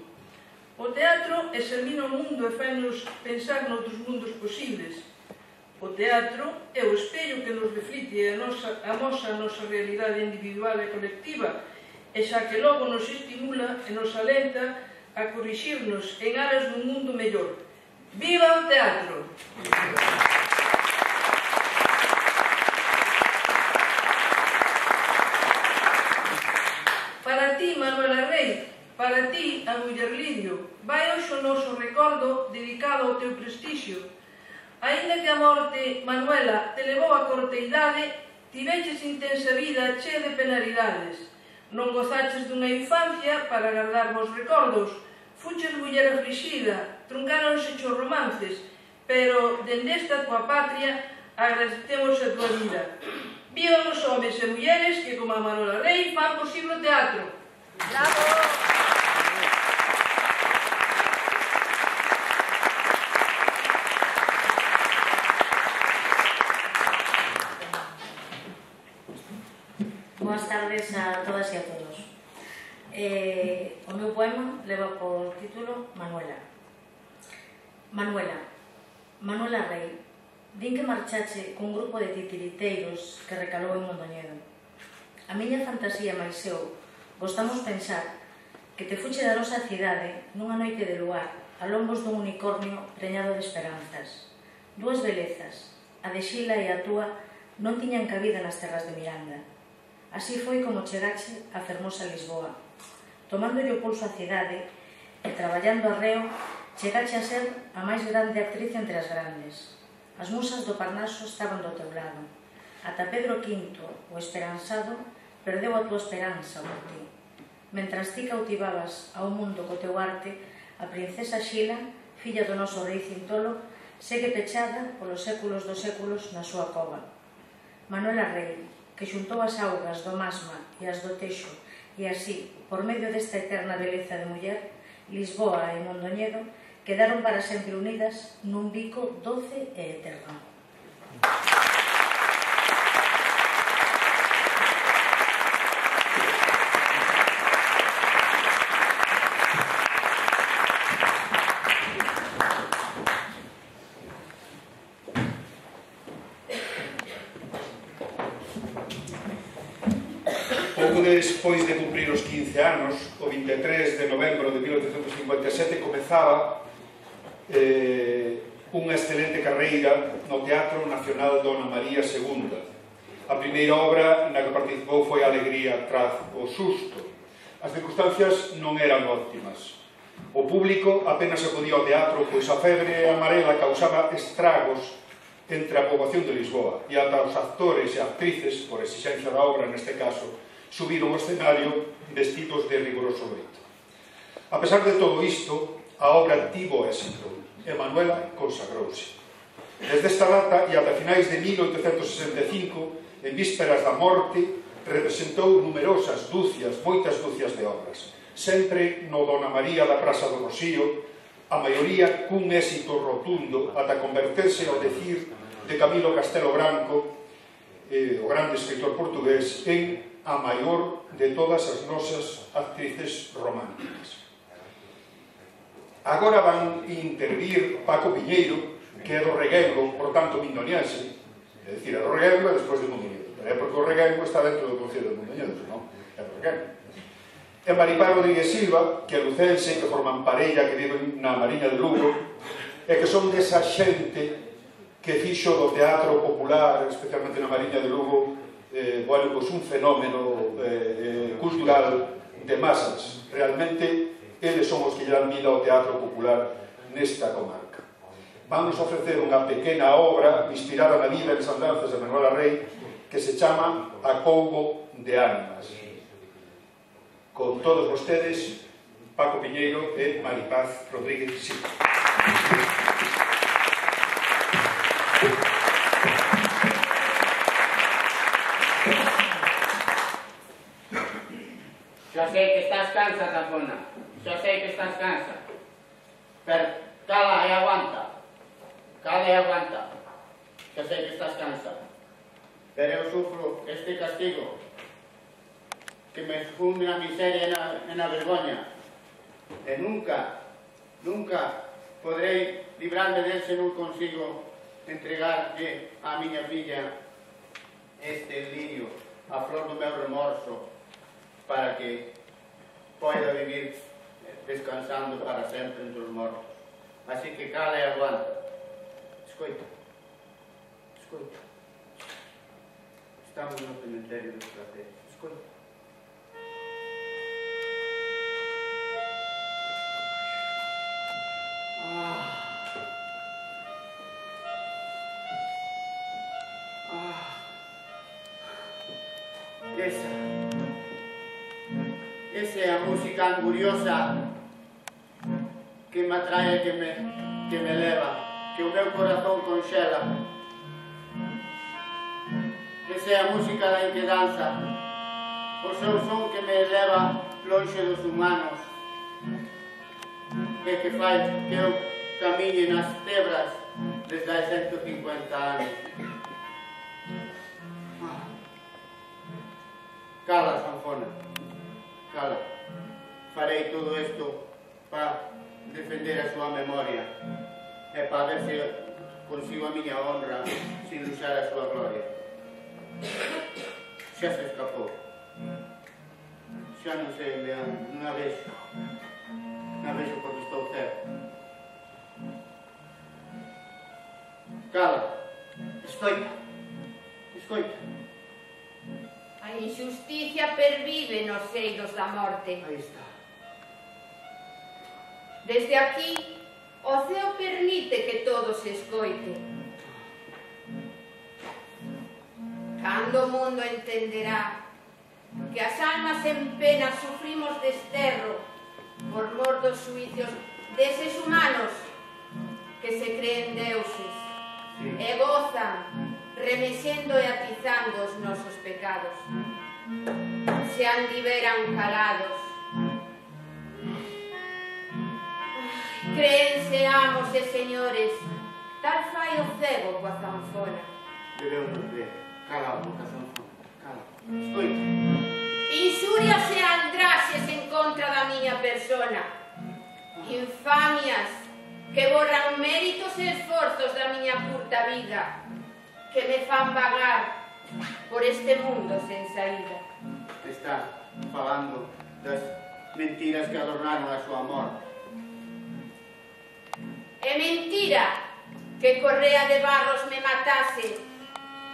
Speaker 7: O teatro examina o mundo e fai-nos pensar noutros mundos posibles. O teatro é o espello que nos reflite e amosa a nosa realidade individual e colectiva, e xa que logo nos estimula e nos alenta a corrixirnos en aras dun mundo mellor. Viva o teatro! Para ti, Manuela Rey, para ti, a muller Lidio, vai hoxe o noso recordo dedicado ao teu prestixio. Aínda que a morte, Manuela, te levou a corteidade, tiveches intensa vida chea de penalidades. Non gozaches dunha infancia para guardar vos recordos, fuches muller aflixida, truncáronse os romances, pero dende esta tua patria agradecemos a tua vida. Vivan os homes e mulleres que, como a Manuela Rey, fan posible o teatro. Bravo!
Speaker 8: Boas tardes a todas e a todos. Eh, o meu poema leva por título Manuela. Manuela, Manuela Rey, din que marchache cun grupo de titiriteiros que recalou en Mondoñedo. A miña fantasía máis eu gostamos pensar que te fuche da nosa cidade nunha noite de luar a lombos dun unicornio preñado de esperanzas. Dúas belezas, a de Xila e a túa, non tiñan cabida nas terras de Miranda. Así foi como chegache a fermosa Lisboa. Tomándolle o pulso á cidade e traballando arreo, chegache a ser a máis grande actriz entre as grandes. As musas do Parnaso estaban do teu lado. Ata Pedro quinto, o esperanzado, perdeu a tua esperanza por ti. Mentras ti cautivabas ao mundo co teu arte, a princesa Xila, filla do noso rei Cintolo, segue pechada polos séculos dos séculos na súa cova. Manuela Rey, que xuntou as augas do Masma e as do Teixo, e así, por medio desta eterna beleza de muller, Lisboa e Mondoñedo quedaron para sempre unidas nun bico doce e eterno.
Speaker 1: Pouco despois de cumprir os quince anos, o vinte e tres de novembro de mil oitocentos cincuenta e sete, comezaba eh, unha excelente carreira no Teatro Nacional Dona María segunda. A primeira obra na que participou foi Alegría tras o susto. As circunstancias non eran óptimas. O público apenas acudía ao teatro, pois a febre amarela causaba estragos entre a poboación de Lisboa, e ata os actores e actrices, por exigencia da obra neste caso, subiron ao escenario vestidos de rigoroso loito. A pesar de todo isto, a obra tivo éxito e Manuela consagrouse. Desde esta data e ata finais de mil oitocentos sesenta e cinco, en vísperas da morte, representou numerosas dúcias, moitas dúcias de obras, sempre no Dona María da Praza do Rocío, a maioría cun éxito rotundo ata converterse ao decir de Camilo Castelo Branco, eh, o grande escritor portugués, en a maior de todas as nosas actrices románticas. Agora van intervir Paco Piñeiro, que é do Reguengo, por tanto mindoniense, é dicir, é do Reguengo e despois de Mondoñedo, é porque o Reguengo está dentro do Concello de Mondoñedo, senón é do Reguengo. E Maripá Rodríguez Silva, que é lucense, que forman parella, que viven na Mariña de Lugo, e que son desa xente que fixo do teatro popular, especialmente na Mariña de Lugo, eh, bueno, pues un fenómeno eh, cultural de masas. Realmente, eles son os que lle dan vida ao teatro popular nesta comarca. Vamos a ofrecer unha pequena obra inspirada na vida e nas andanzas de Manuela Rey, que se chama Acougo de Ánimas. Con todos vostedes, Paco Piñeiro e Maripaz Rodríguez Silva.
Speaker 9: Xa sei que estás cansa, Tapona. Xa sei que estás cansa. Pero cala e aguanta. Cala e aguanta. Xa sei que estás cansa. pero eu sufro este castigo que me funde na miseria e na, e na vergoña. E nunca, nunca podrei librarme del se non consigo entregarlle á miña filla este lirio, a flor do meu remorso, para que poida vivir descansando para sempre entre os mortos. Así que cala e aguanta. Escoita, escoita. Estamos no cementerio dos placeres. Escoita. Ah. Ah. Esa. Esa é a música anguriosa que me atrae, que me, que me leva, que o meu corazón conxela. Esa é a música da inquedanza, o seu son que me leva lonxe dos humanos, e que fai que eu camiñe nas tebras desde hai ciento cincuenta anos. Cala, sanfona, cala. Farei todo isto para defender a súa memoria e para ver se consigo a miña honra sin luxar a súa gloria. Xa se escapou. Xa non sei, non a vexo. Non a vexo porque estou certo. Cala. Escoita. Escoita.
Speaker 10: A injusticia pervive nos seios da morte.
Speaker 9: Aí está.
Speaker 10: Desde aquí, o ceo permite que todo se escoite. Cando o mundo entenderá que as almas en pena sufrimos desterro por mor dos suicios deses humanos que se creen deuses e gozan remexendo e atizando os nosos pecados. Se andiveran calados. Créense amos e señores, tal fai o cego coa zanfona.
Speaker 9: Debemos ver. Cala a boca, sanfona. Cala. Escoita.
Speaker 10: Inxurias e aldraxes en contra da miña persona. Infamias que borran méritos e esforzos da miña curta vida, que me fan vagar por este mundo sen saída.
Speaker 9: Está falando das mentiras que adornaron a súa morte.
Speaker 10: É mentira que Correa de Barros me matase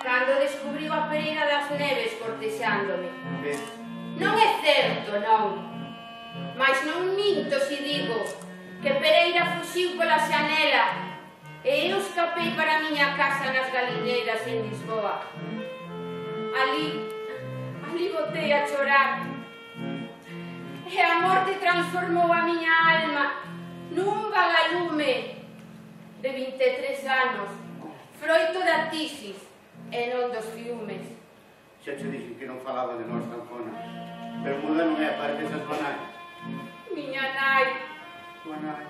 Speaker 10: cando descubriu a Pereira das Neves cortexándome.
Speaker 9: Ves?
Speaker 10: Non é certo, non. Mas non minto se digo que Pereira fuxiu pola xanela e eu escapei para a miña casa nas Galineiras en Lisboa. Ali, ali botei a chorar. E a morte transformou a miña alma nun vagalume de vinte e tres anos, froito da tisis e non dos fiumes.
Speaker 9: Xa te dixen que non falaba de nós, sanfona. Pero muda non é, parece esas banais.
Speaker 10: Miña nai.
Speaker 9: Tua nai.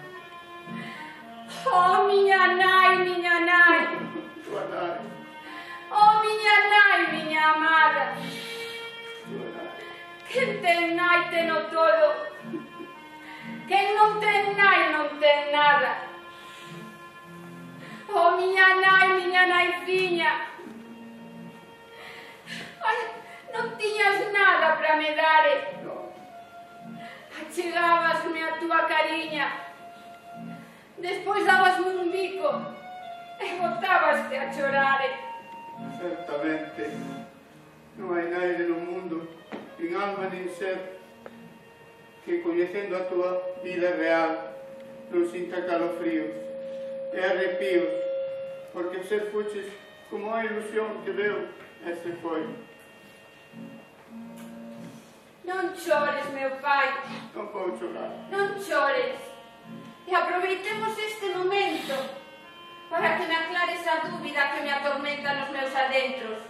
Speaker 10: Oh, miña nai, miña nai.
Speaker 9: Tua nai.
Speaker 10: Oh, miña nai, miña amada.
Speaker 9: Tua nai.
Speaker 10: Quen ten nai teno todo. Quen non ten nai non ten nada. Oh, miña nai, miña nai fiña. Ai, non tiñas nada para me dare.
Speaker 9: No.
Speaker 10: Achegabasme a túa cariña. Despois dabasme un bico e botabaste a chorare.
Speaker 9: Certamente non hai naide no mundo, nin alma nin ser, que coñecendo a túa vida real non sinta calofríos e arrepíos, porque ser fuches como a ilusión que veu e se foi.
Speaker 10: Non chores, meu pai.
Speaker 9: Non vou chorar.
Speaker 10: Non chores. E aproveitemos este momento para que me aclares a dúbida que me atormenta nos meus adentros.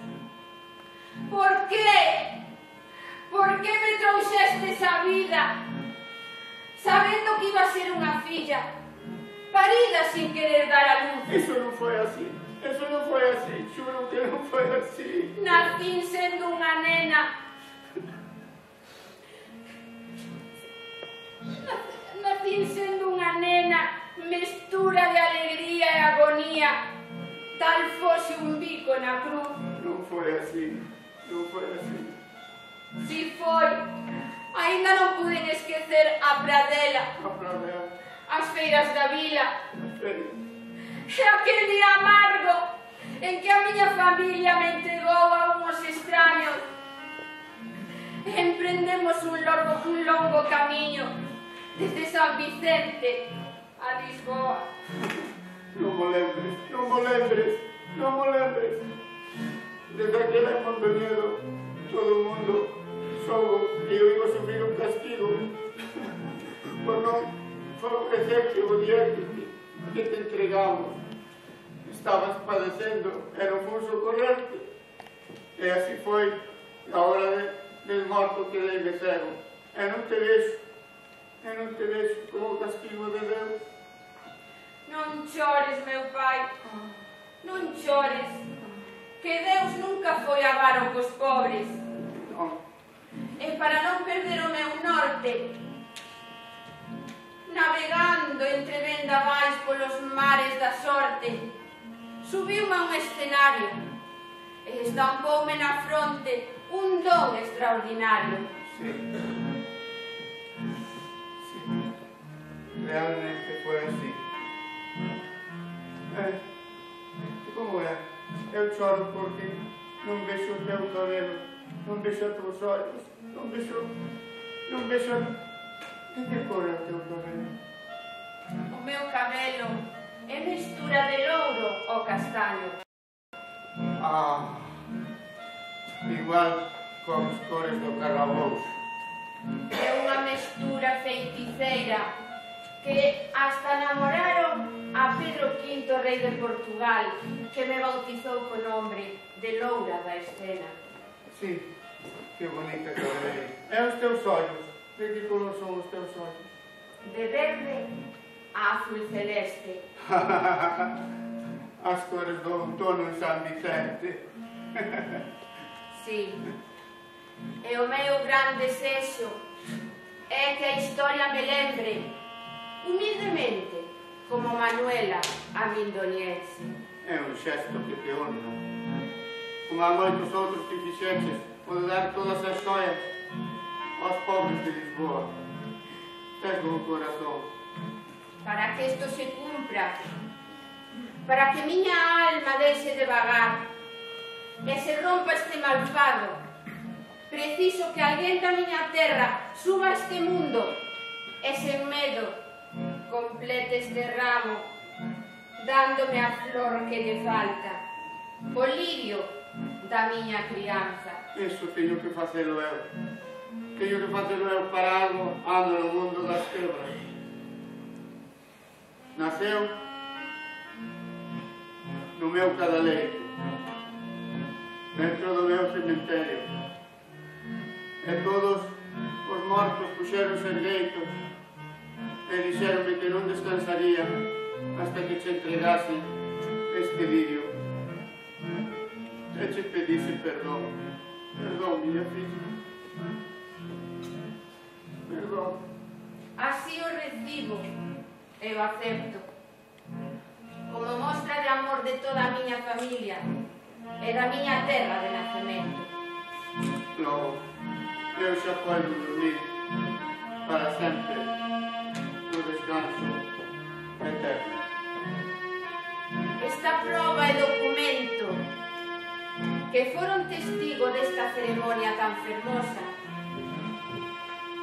Speaker 10: Por qué? Por que me trouxestes a vida sabendo que iba a ser unha filla parida sin querer dar a luz?
Speaker 9: Iso non foi así. Eso non foi así, xuro que non foi así.
Speaker 10: Nacín sendo unha nena. Nacín sendo unha nena, mestura de alegría e agonía, tal fose un bico na cruz.
Speaker 9: Non foi así, non foi así.
Speaker 10: Si foi, aínda non puden esquecer a pradela,
Speaker 9: A pradela,
Speaker 10: as feiras da vila,
Speaker 9: a feira.
Speaker 10: e aquel día amargo en que a miña familia me entregou a unhos extraños. Emprendemos un longo, un longo camiño desde San Vicente a Lisboa.
Speaker 9: Non mo lembres, non mo lembres, non mo lembres. Desde aquela Mondoñedo, todo o mundo soubo que eu iba a sufrir un castigo por non favorecerte o día que te, que te entregamos. Estabas padecendo, era un fun socorrerte. E así foi, a hora de, del morto quedei de cego. E non te vexo, e non te vexo como castigo de Deus.
Speaker 10: Non chores, meu pai, non chores, que Deus nunca foi avaro cos pobres.
Speaker 9: Non.
Speaker 10: E para non perder o meu norte, navegando entre vendavais polos mares da sorte, subiume a un escenario e estampoume na fronte un don extraordinario.
Speaker 9: Sí. Sí. Realmente foi así. Eh, como é? Eu choro porque non vexo o teu cabelo, non vexo os teus olhos, non vexo... non vexo... De que cor é o teu cabelo?
Speaker 10: O meu cabelo é mestura de louro ao castaño.
Speaker 9: Ah, igual coas cores do carrabouxo.
Speaker 10: É unha mestura feiticeira que hasta namoraron a Pedro quinto, rei de Portugal, que me bautizou co nome de Loura da Escena.
Speaker 9: Sí, que bonita cabeleira. E os teus ollos? De que color son os teus ollos?
Speaker 10: De verde a azul celeste.
Speaker 9: As cores do outono en San Vicente.
Speaker 10: Sí. E o meu gran desexo é que a historia me lembre, humildemente, como Manuela, a mindoniense.
Speaker 9: É un xesto que te honra. Como a moitos outros que fixeches, pode dar todas as xoias aos pobres de Lisboa. Tes bo corazón.
Speaker 10: Para que isto se cumpra, para que miña alma deixe de vagar e se rompa este malfado, preciso que alguén da miña terra suba a este mundo e sen medo complete este ramo, dándome a flor que lle falta, o lirio da miña crianza.
Speaker 9: Iso teño que facelo eu. Teño que facelo eu para algo ando no mundo das quebras. Naceu no meu cadaleiro, dentro do meu cemiterio. E todos os mortos puxeronse ergueitos e dixeronme que non descansaría hasta que che entregase este lirio. E che pedise perdón. Perdón, miña filla. Perdón.
Speaker 10: Así o recibo e o acepto, como mostra de amor de toda a miña familia e da miña terra de nacemento.
Speaker 9: Logo, eu xa podo dormir para sempre no descanso eterno.
Speaker 10: Esta prova e documento que foron testigo desta ceremonia tan fermosa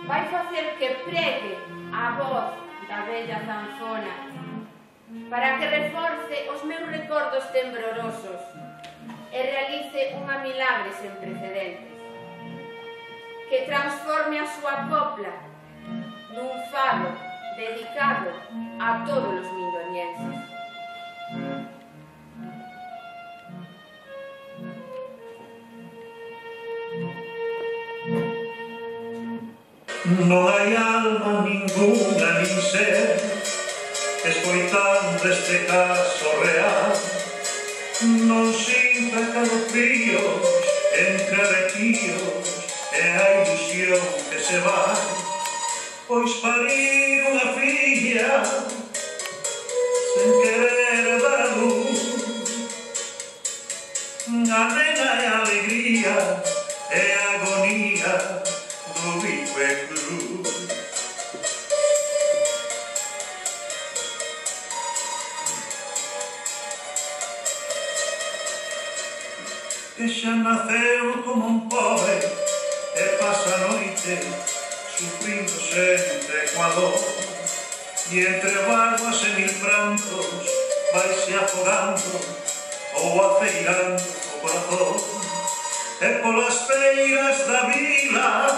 Speaker 10: vai facer que pregue a voz da bella zanfona para que reforce os meus recordos temblorosos e realice unha milagre sen precedentes, que transforme a súa copla nun fado dedicado a todos os mindonienses.
Speaker 11: Non hai alma ninguna nin ser escoitando este caso real non sinta calofríos entre retíos e a ilusión que se vai, pois parir unha filla sen querer dar a luz, a nena e a alegría e a agonía do bico e cruz. Que xa naceu como un pobre e pasa a noite sufrindo sempre coa dor, e entre vaguas e mil prantos vaise afogando ou afeirando o corazón, e polas feiras da vila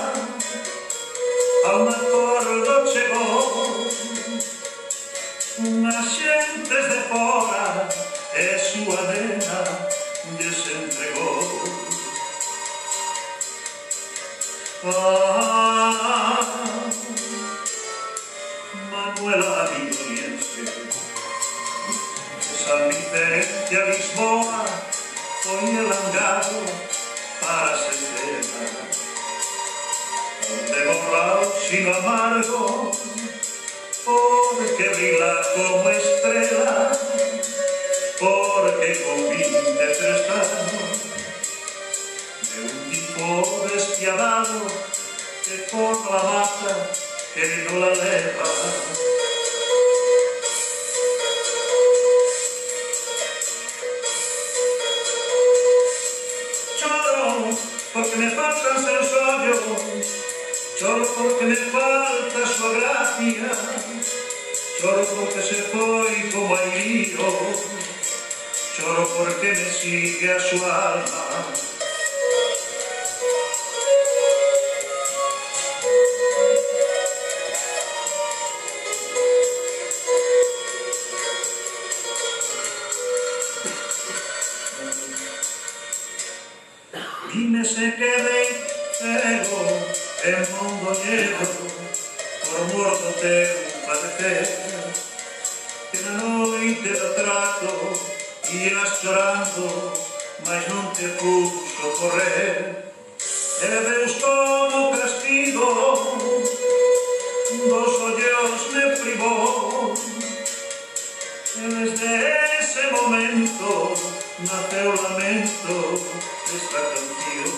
Speaker 11: a un acordo chegou, unhas xentes de fora e súa nena lles entregou. Ah, Manuela Villoniense, de San Vicente a Lisboa foi el angado para se cena, onde borrao sino amargo, porque brila como estrela, porque con vinte e tres anos de un tipo despiadado que por la mata que no la leva. Choro porque me faltan seus ollos, choro porque me falta súa gracia, choro porque se foi como airío, choro porque me sigue a súa alma. Dime se quedei cego en mundo lleno por mor do teu padecer, que na noite do trato ias chorando, mas non te puxo correr, e Deus como castigo dos ollos me privou, e desde ese momento naceu o lamento desta canción.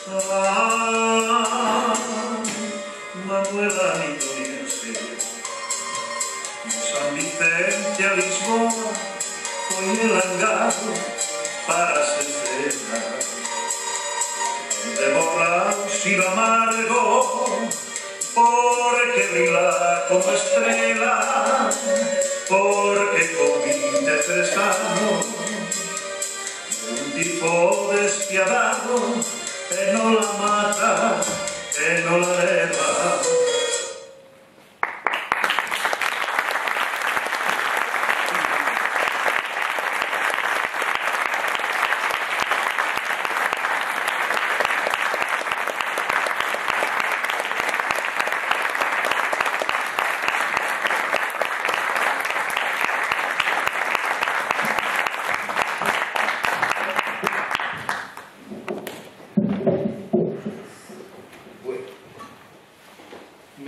Speaker 11: Ah, Manuela Villoniense, de San Vicente a Lisboa foi el angado para se cena, de borrao silo amargo, porque brila como estrela, porque con vinte e tres anos de un tipo despiadado e non la mata e non la leva.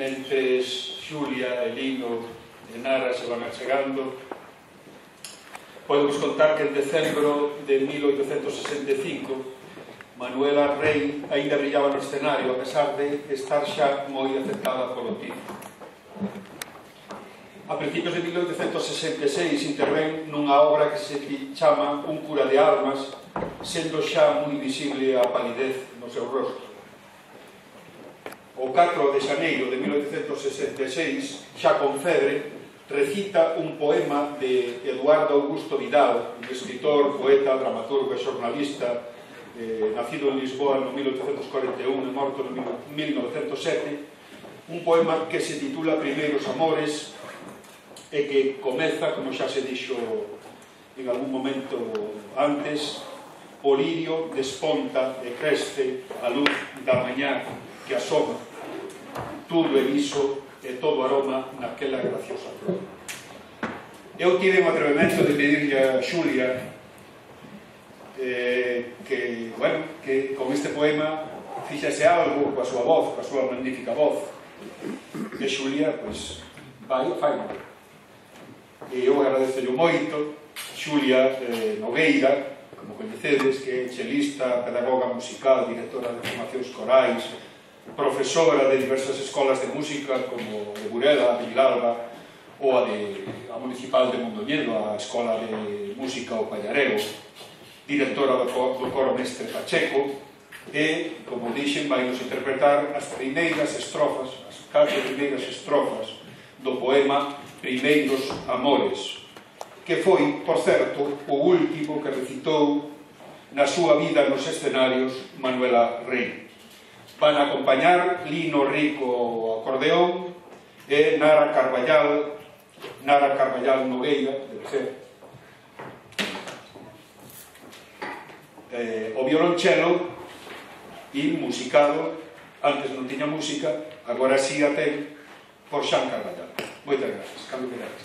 Speaker 1: Mentes Xulia, Elino e Nara se van achegando, podemos contar que en decembro de mil oitocentos sesenta e cinco Manuela Rey aínda brillaba no escenario, a pesar de estar xa moi afectada polo tifo. A principios de mil oitocentos sesenta e seis intervén nunha obra que se chama Un cura de almas, sendo xa moi visible a palidez no seu rostro. O catro de xaneiro de mil oitocentos sesenta e seis, xa con febre, recita un poema de Eduardo Augusto Vidal, un escritor, poeta, dramaturgo e xornalista, eh, nacido en Lisboa no mil oitocentos cuarenta e un e morto no mil novecentos sete, un poema que se titula Primeiros Amores e que comeza, como xa se dixo en algún momento antes, o lirio desponta e creste a luz da mañá que asoma, tudo é liso e todo aroma naquela graciosa flor. Eu tive un atrevemento de pedirle a Xulia eh, que, bueno, que con este poema fixese algo coa súa voz, coa súa magnífica voz. E Xulia, pois, vai, fai. E eu agradezo-llo moito. Xulia eh, Nogueira, como coñecedes, que é chelista, pedagoga musical, directora de formacións corais, profesora de diversas escolas de música como de Burela, de Vilalba ou a, de, a municipal de Mondoñedo, a escola de música o Pallareo, directora do, do coro Mestre Pacheco, e, como dixen, vai nos interpretar as primeiras estrofas, as catro primeiras estrofas do poema Primeiros Amores, que foi, por certo, o último que recitou na súa vida nos escenarios Manuela Rey. Van a acompañar Lino Rico ao acordeón e Nara Carballal, Nara Carballal Nogueira, debe ser, eh, o violonchelo, e musicado, antes non tiña música, agora sí a ten, por Xan Carballal. Moitas gracias. Cambio que gracias.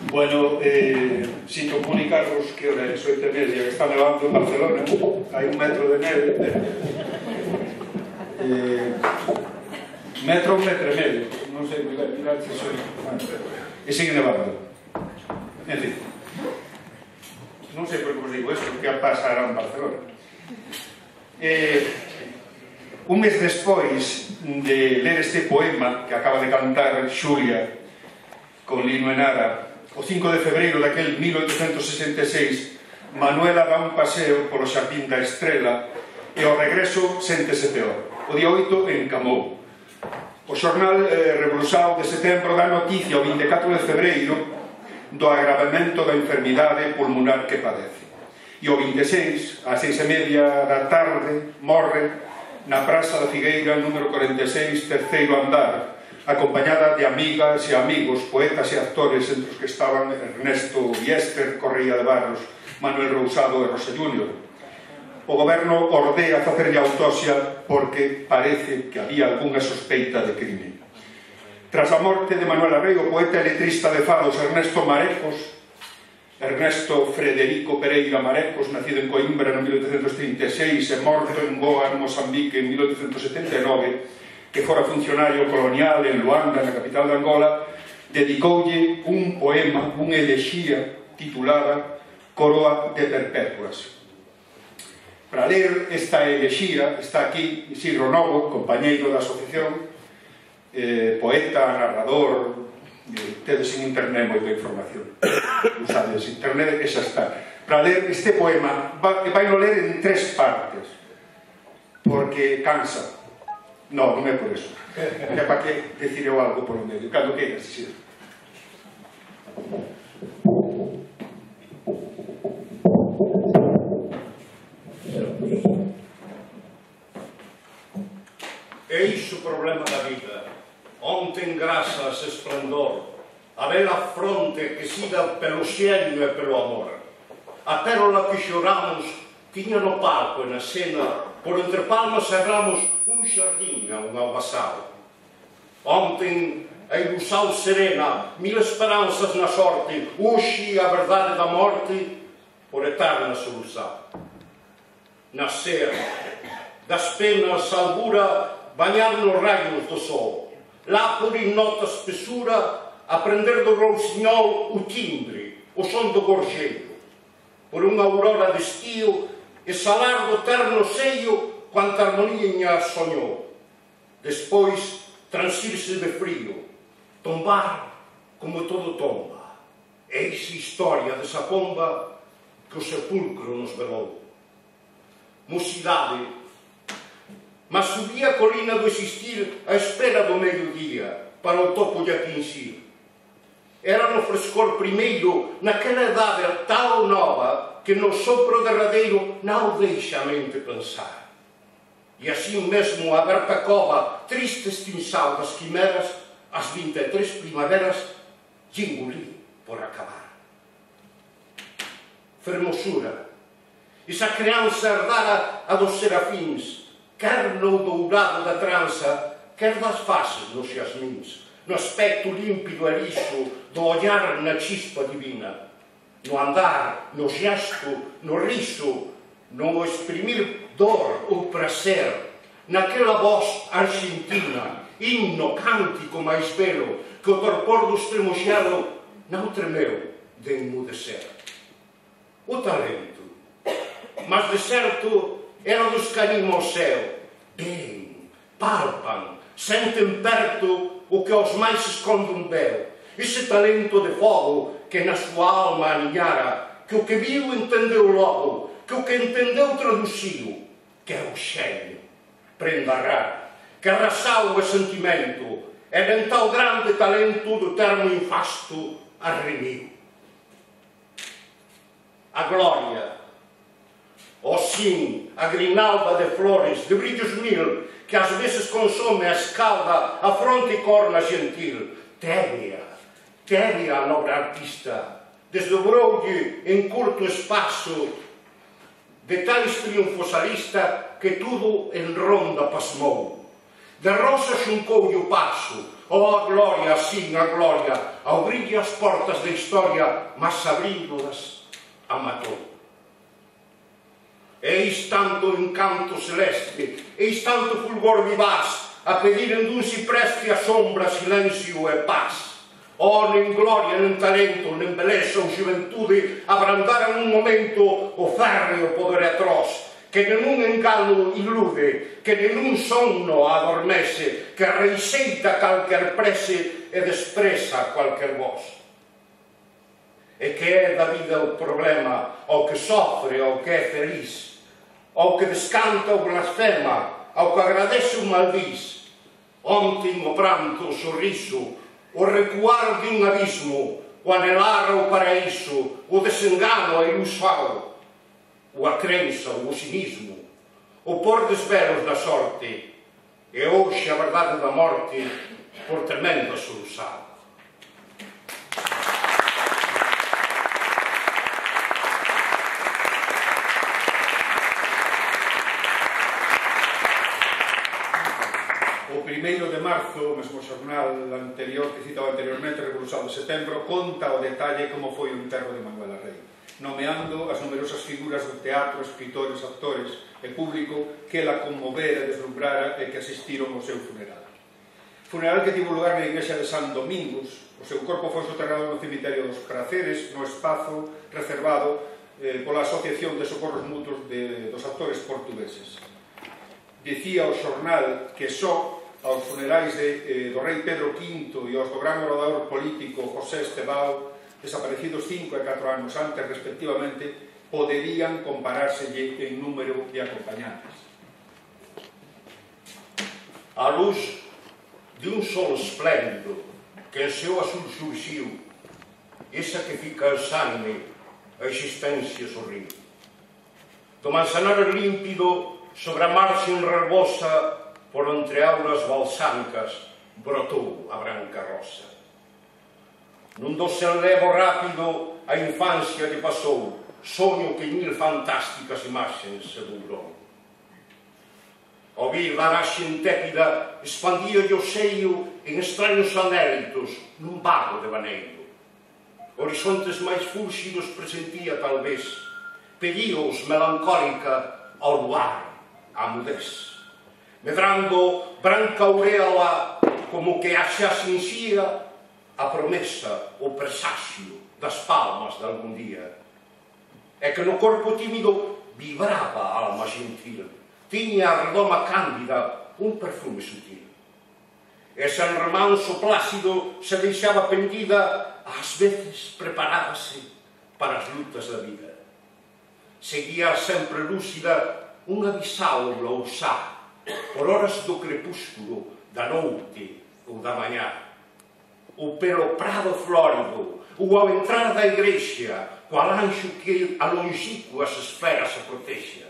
Speaker 1: Bueno, eh, sinto comunicaros que hora é oito e media, que está nevando en Barcelona, hai un metro de neve, eh, metro, un metro e medio, non sei, mirad, mirad se soy, e sigue nevando. En fin, non sei por que vos digo isto, que pasará en Barcelona. Eh, un mes despois de ler este poema que acaba de cantar Xulia con Lino Enara, o cinco de febreiro daquel mil oitocentos sesenta e seis, Manuela dá un paseo polo Xardín da Estrela e ao regreso séntese peor. O día oito encamou. O xornal eh, Revolução de setembro dá noticia o vinte e catro de febreiro do agravamento da enfermidade pulmonar que padece. E o vinte e seis, ás seis e media da tarde, morre na Praza da Figueira, número corenta e seis, terceiro andar, acompañada de amigas e amigos, poetas e actores, entre os que estaban Ernesto Biester, Correia de Barros, Manuel Rousado e Rosa Júnior. O goberno ordea facerlle autopsia porque parece que había algunha sospeita de crime. Tras a morte de Manuel Arrei, o poeta e letrista de fados Ernesto Marecos, Ernesto Frederico Pereira Marecos, nacido en Coimbra en mil oitocentos trinta e seis e morto en Goa, en Mozambique, en mil oitocentos setenta e nove, que fora funcionario colonial en Luanda, na capital de Angola, dedicoulle un poema, unha elexía titulada Coroa de Perpétuas. Para ler esta elexía está aquí Isidro Novo, compañeiro da asociación, eh, poeta, narrador, eh, tedes en internet moita información, usades internet e xa está. Para ler este poema, vai, vai no ler en tres partes, porque cansa. Non, non é por eso. É para que decir eu algo por o medio. Cando queiras, Isidro.
Speaker 12: É iso o problema da vida. Onte engrasas esplendor, a bela fronte que sida pelo xeño e pelo amor. A pérola que xoramos tiña no palco e na cena, por entre palmas e ramos, un xardín a un albasal. Ontem a ilusão serena, mil esperanças na sorte, hoxe a verdade da morte, por eterna solução. Nascer, das penas albura, banhar nos raios do sol, lá por inota espessura, aprender do rousinhol o timbre, o som do gorjeiro, por unha aurora de estio, exhalar do terno seio quanta harmonia sonhou. Despois, transirse de frío, tombar como todo tomba. Eis a historia desa pomba que o sepulcro nos velou. Mocidade, mas subía a colina do existir a espera do medio-día para o topo de atingir. Era no frescor primeiro, naquela idade tal nova, que no sopro derradeiro não deixa a mente pensar. E assim mesmo a aberta cova, triste extinção das quimeras, as vinte e três primaveras, engoli por acabar. Fermosura, esa criança herdara a dos serafins, quer no dourado da trança, quer das faces dos jasmins, no aspecto límpido e liso, do olhar na chispa divina, no andar, no gesto, no riso, no exprimir dor ou prazer, naquela voz argentina, himno cântico mais belo, que o torpor do extremo gelo não tremeu de emudecer. O talento, mas de certo era dos que animam o céu, bem, palpam, sentem perto o que aos mais se esconde um véu, esse talento de fogo que na sua alma aninhara, que o que viu entendeu logo, que o que entendeu traduziu, que é o cheio, prenda rara, que arrasau o sentimento, era em tal grande talento do termo infasto arremiu. A glória, o sim, a grinalda de flores, de brilhos mil, que às vezes consome a escalda, a fronte e corna gentil, tébia, tébia a nobre artista, desdobrou-lhe em curto espaço de tais triunfos a lista que tudo en ronda pasmou. De rosa xuncoulle o paso, oh a gloria, sin a gloria, ao brillo as portas da historia, mas abrindo-las a matou. Eis tanto encanto celeste, eis tanto fulgor vivaz, a pediren dun ciprés que a sombra, silencio e paz. Oh, nen gloria, nen talento, nen beleza ou xuventude abrandaran un momento o férreo poder atroz, que nenun engano ilude, que nenun sonno adormece, que reixeita calquer prese e despreza calquer voz. E que é da vida o problema, ao que sofre, ao que é feliz, ao que descanta ou blasfema, ao que agradece o maldiz. Ontem o pranto, o sorriso, o recuar de un abismo, o anelar ao paraíso, o desengano, a ilusão, o a crença, o cinismo, o pôr desvelos da sorte, e hoxe a verdade da morte por tremenda solução.
Speaker 1: O primeiro de marzo, o mesmo xornal anterior que citaba anteriormente, Revolución de Setembro, conta o detalle como foi o enterro de Manuela Rei, nomeando as numerosas figuras do teatro, escritores, actores e público que la conmovera, deslumbrara e que asistiron ao seu funeral. Funeral que tivo lugar na igrexa de San Domingos. O seu corpo foi soterrado no cemiterio dos Praceres, no espazo reservado eh, pola Asociación de Socorros Mutuos de, dos Actores Portugueses. Dicía o xornal que só aos funerais de, eh, do rei Pedro quinto e aos do gran orador político José Estebao, desaparecidos cinco e catro anos antes, respectivamente, poderían comparárselle en número de acompañantes.
Speaker 12: A luz de un sol espléndido que en seu azul surxiu, esa que fica exánime, a existencia sorriu. Do manzanar límpido sobre a marxen rebosa, por entre aulas balsámicas, brotou a branca rosa. Nun dosel levo rápido a infancia lle pasou, soño que mil fantásticas imaxens se dourou. Ao vir da raxe intépida, expandíolle o seio en extraños anélitos nun vago devaneiro. Horizontes máis fúlxidos presentía talvez, pedíos melancólica ao luar, a mudez. Medrando branca auréola como que xa sinxía a promesa, o presagio das palmas de algún día. É que no corpo tímido vibraba a alma gentil, tiña a redoma cándida un perfume sutil. E San Remanso plácido se deixaba pendida, ás veces preparábase para as lutas da vida. Seguía sempre lúcida unha bisaula ou xa, por horas do crepúsculo, da noite ou da mañá. Ou pelo prado flórido, ou ao entrar da igrexa, coal anxo que a longínquas esferas se protexa.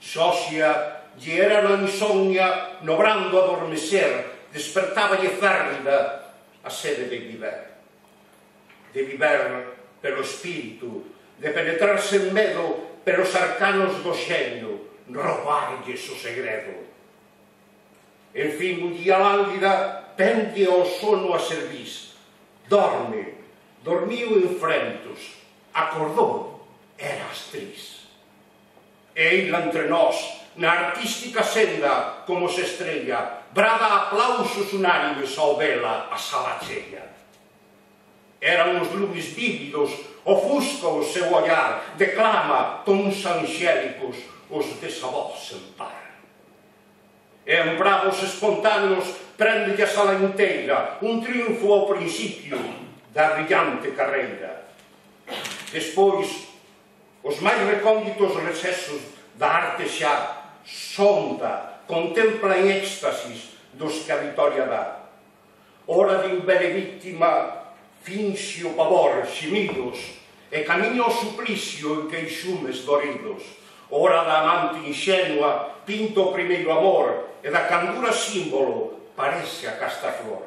Speaker 12: Xóxia lle era na insomnia, no brando adormecer, despertáballe férrida a sede de viver. De viver pelo espírito, de penetrarse en medo pelos arcanos do xenio, roubarlles o segredo. En fin, un día lánguida, pende ao sono a servis. Dorme, dormiu en frentos, acordou, era astriz. E ela entre nós, na artística senda, como se estrella, brada aplausos unánimes ao vela a sala cheia. Eran os lumes vívidos, ofusca o seu olhar, declama tons angélicos os desavós en par. E en bravos espontáneos prende a sala inteira, un triunfo ao principio da brillante carreira. Despois, os máis recónditos recesos da arte xa sonda, contempla en éxtasis dos que a vitoria dá. Hora de invere víctima, finxe o pavor, ximidos, e camiña ao suplicio en queixumes doridos. Hora da amante inxenua, pinta o primeiro amor, e da candura símbolo parece a casta flor.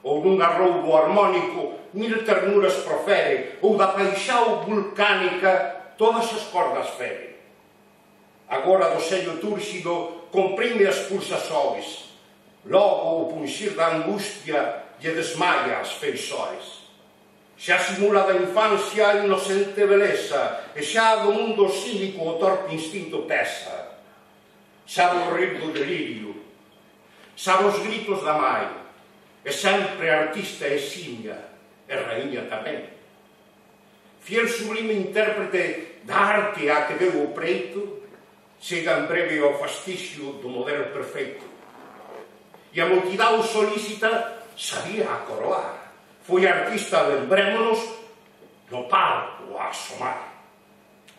Speaker 12: Ou nun arroubo harmónico mil ternuras profere, ou da paixao vulcánica todas as cordas fere. Agora do sello túrxido comprime as pulsações, logo o punxir da angustia lle desmaia as feições. Xa simula da infancia a inocente beleza, e xa do mundo cínico o torpe instinto pesa. Sabe o rir do delirio, sabe os gritos da mai, e sempre artista eximia, e raíña tamén. Fiel sublime intérprete da arte a que deu o preito, chega en breve ao fastigio do modelo perfeito. E a multidão solícita sabía acoroar. Foi artista, lembrémonos, no palco a asomar.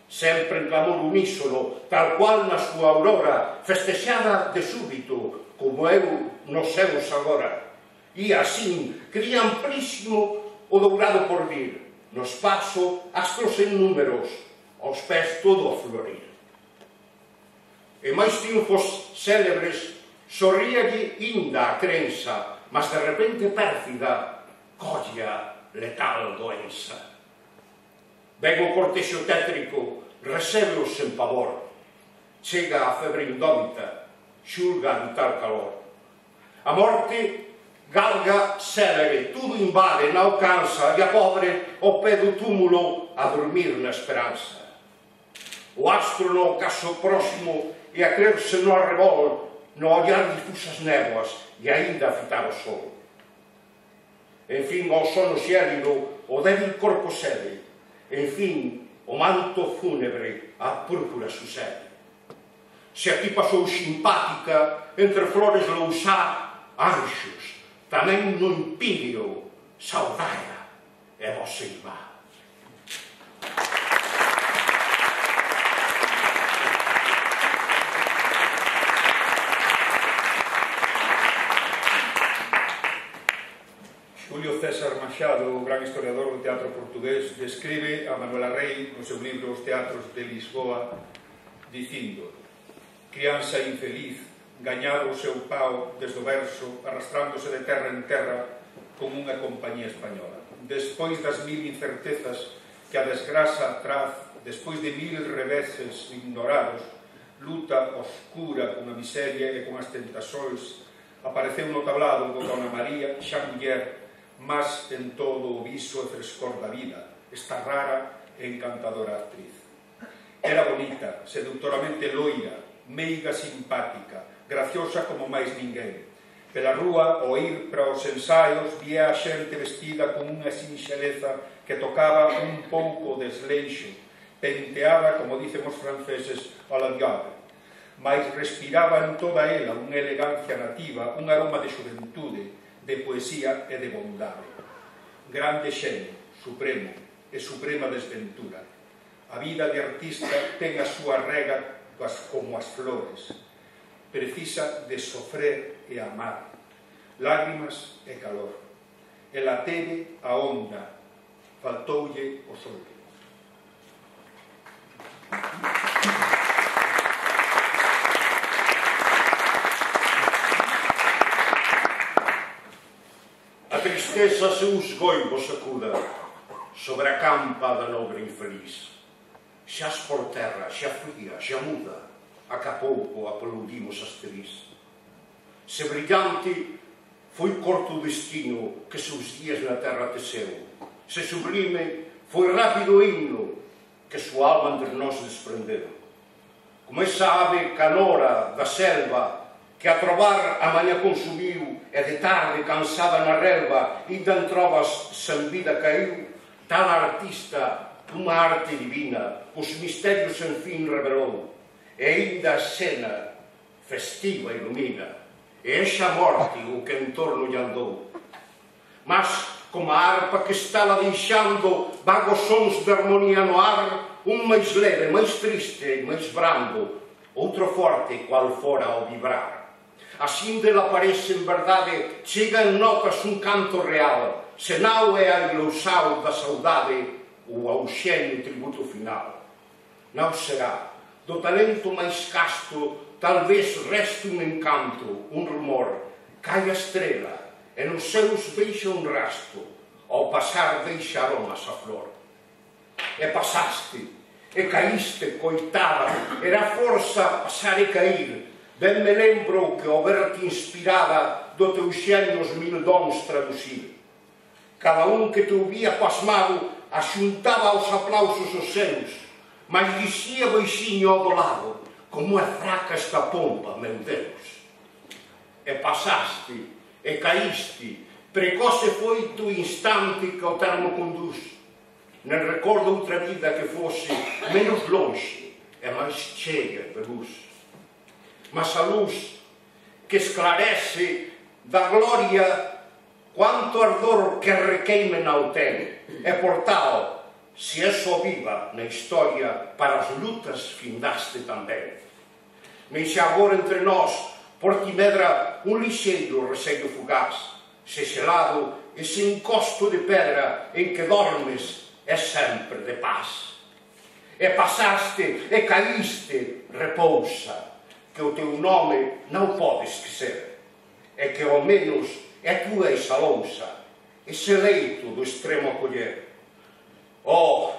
Speaker 12: Sempre en clamor unísono, tal cual na súa aurora, festexada de súbito, como eu nos céus agora. E así, cría amplísimo o dourado porvir, no espazo astros en números, aos pés todo a florir. E máis triunfos célebres, sorríalle inda a crenza, mas de repente pérfida, colla letal doenza. Ven o cortexo tétrico, recebe-o sen pavor, chega a febre indómita, xulga de tal calor. A morte galga célere, tudo invade, non alcanza, e a pobre ao pé do túmulo a dormir na esperanza. O astro no ocaso próximo e a creerse no arrebol, no ollar difusas néboas e aínda a fitar o sol. En fin, ao sono xélido, o débil corpo cede. En fin, o manto fúnebre a púrpura sucede. Se aquí pasou simpática, entre flores lousá, anxos, tamén no impírio, saudaia e vosa irmá.
Speaker 1: Julio César Machado, o gran historiador do teatro portugués, describe a Manuela Rei no seu libro Os teatros de Lisboa, dicindo: crianza infeliz, gañaba o seu pau desde o verso, arrastrándose de terra en terra con unha compañía española. Despois das mil incertezas que a desgrasa traz, despois de mil reveses ignorados, luta oscura con a miseria e con as tentações, apareceu no tablado do Dona María, xa muller, mas en todo o viso e frescor da vida, esta rara e encantadora actriz. Era bonita, seductoramente loira, meiga simpática, graciosa como máis ninguén. Pela rúa, ao ir para os ensaios, vía a xente vestida con unha sinxeleza que tocaba un pouco desleixo, penteada, como dicen os franceses, a la diable, mas respiraba en toda ela unha elegancia nativa, un aroma de xuventude, de poesía e de bondade. Grande xenio, supremo e suprema desventura. A vida de artista ten a súa rega como as flores. Precisa de sofrer e amar, lágrimas e calor. Ela teve a onda, faltoulle o sol.
Speaker 12: A tristeza seus goivos sacuda sobre a campa da nobre infeliz. Xas por terra, xa fría, xa muda, a que a pouco aplaudimos asteris. Se brillante foi corto o destino que seus días na terra teceu. Se sublime foi rápido o himno que súa alma entre nós desprendeu. Como esa ave canora da selva que a trobar a maña consumiu e de tarde, cansada na relva, inda en trovas sen vida caiu, tal artista, unha arte divina, os misterios sen fin revelou, e inda a escena festiva ilumina, e exa morte o que en torno lle andou. Mas, como a arpa que está la deixando vagos sons de armonía no ar, un máis leve, máis triste, máis brando, outro forte, cual fora ao vibrar. Así dela aparece en verdade, chega en notas un canto real, senao é a ilousao da saudade ou ao xenio tributo final. Non será, do talento máis casto, talvez reste un encanto, un rumor, cai a estrela, e nos seus deixa un rasto, ao pasar deixa aromas a flor. E pasaste, e caíste, coitada, era forza pasar e cair. Ben me lembro que ao verte inspirada do teu xenio os mil dons traducir. Cada un que te ouvía pasmado axuntaba aos aplausos os seus, mas dixía baixinho ao do lado: como é fraca esta pompa, meu Deus. E pasaste, e caíste, precoce foi tu instante que ao termo conduz. Non recordo outra vida que fose menos longe e máis chega de luz. Mas a luz que esclarece da gloria quanto ardor que requeime na ten, e por tal, se é só viva na historia, para as lutas findaste tamén. Nem se agora entre nós por ti medra un lixeiro receio fugaz, se xelado ese encosto de pedra en que dormes é sempre de paz. E pasaste, e caíste, repousa, que o teu nome non podes esquecer, e que ao menos é tu eis a lousa, ese leito do extremo acoller. Oh,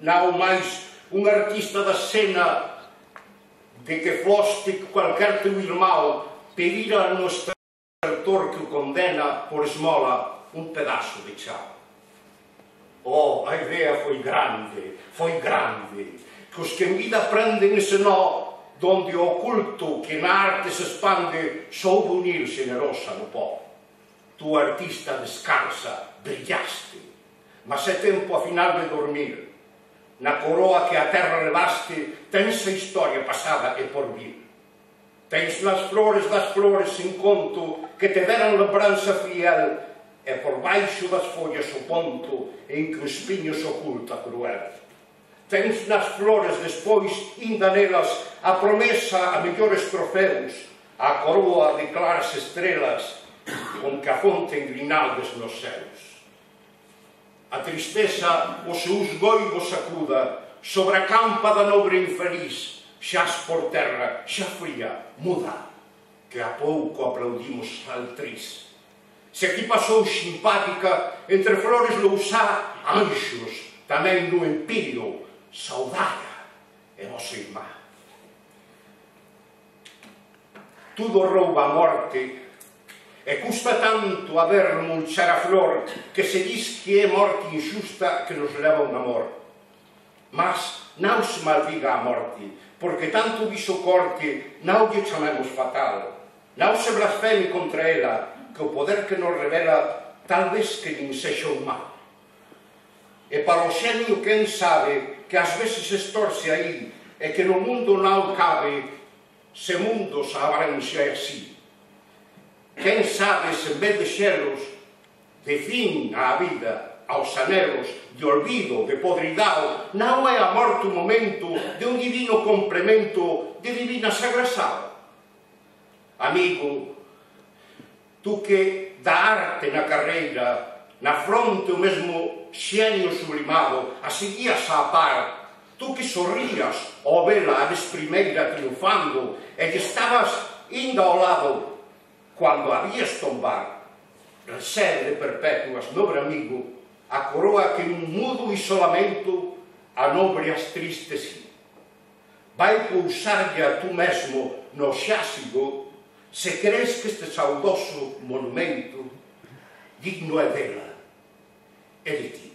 Speaker 12: non máis un artista da escena de que foste cualquer teu irmão pedira no estertor que o condena por esmola un pedazo de chao. Oh, a idea foi grande, foi grande, que os que en vida aprenden ese nó donde o oculto que na arte se expande soubo unir generosa no pó. Tu artista descansa, brillaste, mas é tempo a final de dormir. Na coroa que a terra levaste tens a historia pasada e por vir. Tens nas flores das flores sin conto que te deran lembranza fiel, e por baixo das follas o ponto en que o espinho se oculta cruel. Tens nas flores despois, inda nelas, a promesa a mellores trofeus, a coroa de claras estrelas con que afonten grinaldes nos céus. A tristeza os seus goivos sacuda sobre a campa da nobre infeliz, xas por terra, xa fría, muda, que a pouco aplaudimos altriz. Se aquí pasou simpática, entre flores lousá, anxos, tamén no empírio, saudara e nosa irmá. Tudo rouba a morte, e custa tanto a ver mulchar a flor que se diz que é morte injusta que nos leva a un amor. Mas non se maldiga a morte, porque tanto viso corte non lle chamemos fatal. Non se blasfeme contra ela, que o poder que nos revela tal vez que nin sexa un mal. E para o xenio quen sabe que ás veces estorce aí e que no mundo non cabe se mundos abranxe así. Quen sabe se en vez de xelos de fin á vida, aos anelos de olvido, de podridao, non é a morte o momento de un divino complemento de divina sagrasada. Amigo, tú que da arte na carreira, na fronte o mesmo xenio sublimado, a seguías a par, tú que sorrías ao vela a desprimeira triunfando e que estabas indo ao lado cando habías tombar, resede perpetuas, nobre amigo, a coroa que en un mudo isolamento a nobre as tristes vai pousarlle a tú mesmo no xásigo se crees que este saudoso monumento digno é dela e de ti.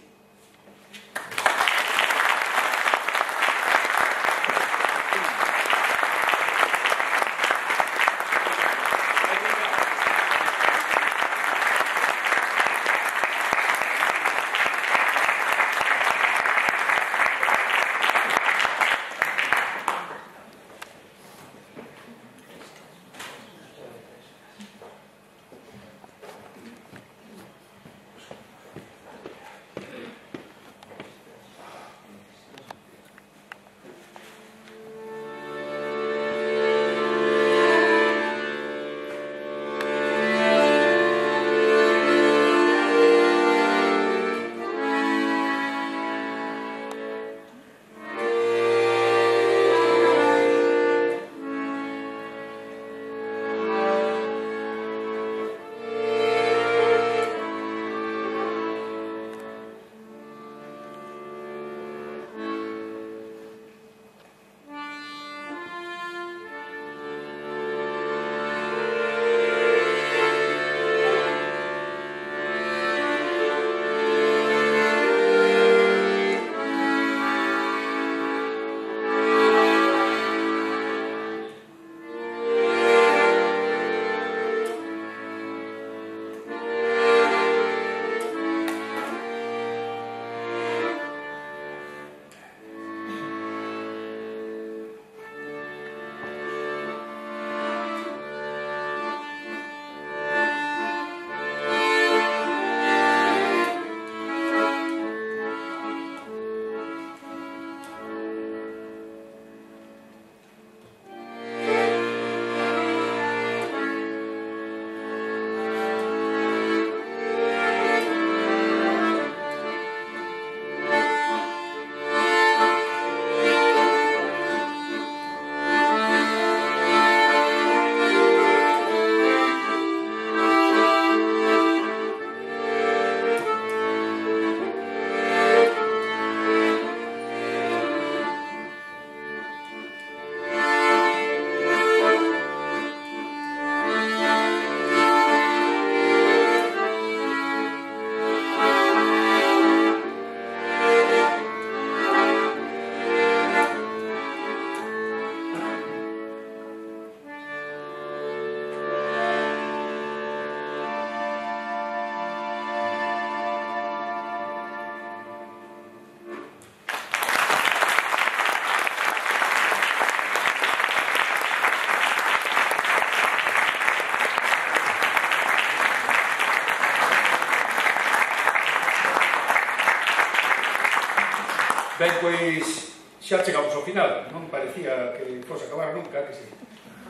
Speaker 1: Pois xa chegamos ao final, non parecía que fose acabar nunca, que si.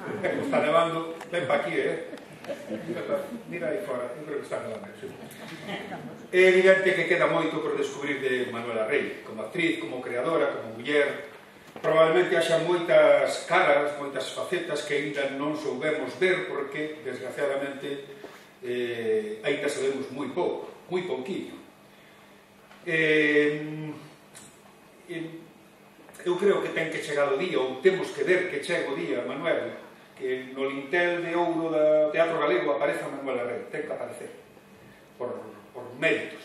Speaker 1: Como está nevando, ven pa aquí, eh? Mira aí fora, eu creo que está nevando, sí. É evidente que queda moito por descubrir de Manuela Rey, como actriz, como creadora, como muller. Probablemente haxa moitas caras, moitas facetas que ainda non soubemos ver porque, desgraciadamente, eh, ainda sabemos moi pouco, moi pouquinho. Eh, eu creo que ten que chegar o día, ou temos que ver que chega o día, Manuel, que no lintel de ouro do Teatro Galego apareza Manuela Rey, ten que aparecer, por, por méritos.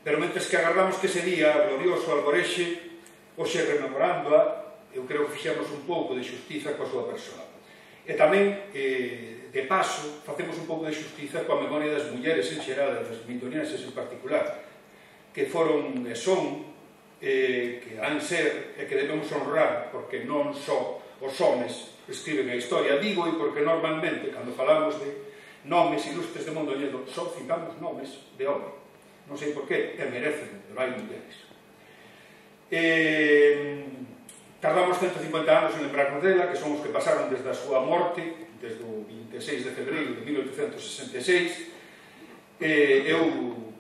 Speaker 1: Pero mentres que agardamos que ese día glorioso alborexe, hoxe rememorándoa, eu creo que fixemos un pouco de xustiza coa súa persoa. E tamén, eh, de paso, facemos un pouco de xustiza coa memoria das mulleres en xeral, das mindonienses en particular, que foron e son, eh, que han ser e que debemos honrar, porque non só os homes escriben a historia, digo, e porque normalmente, cando falamos de nomes ilustres de Mondoñedo, só citamos nomes de home. Non sei por qué, e merecen, pero hai mulleres. Eh, tardamos ciento cincuenta anos en lembrarnos dela, que son os que pasaron desde a súa morte, desde o vinte e seis de febreiro de mil oitocentos sesenta e seis. Eh, eu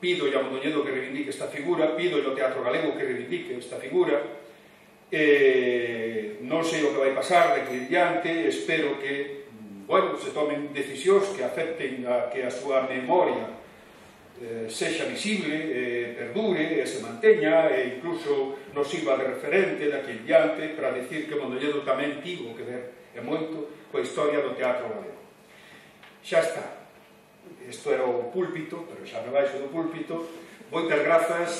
Speaker 1: pido a Mondoñedo que reivindique esta figura, pido ao Teatro Galego que reivindique esta figura. Eh, non sei o que vai pasar de aquí en diante, espero que, bueno, se tomen decisións que afecten a que a súa memoria eh, sexa visible, eh, perdure, e se manteña, e incluso nos sirva de referente de aquí en diante para decir que Mondoñedo tamén tivo que ver e moito coa historia do Teatro Galego. Xa está. Isto era o púlpito, pero xa me baixo do púlpito. Moitas grazas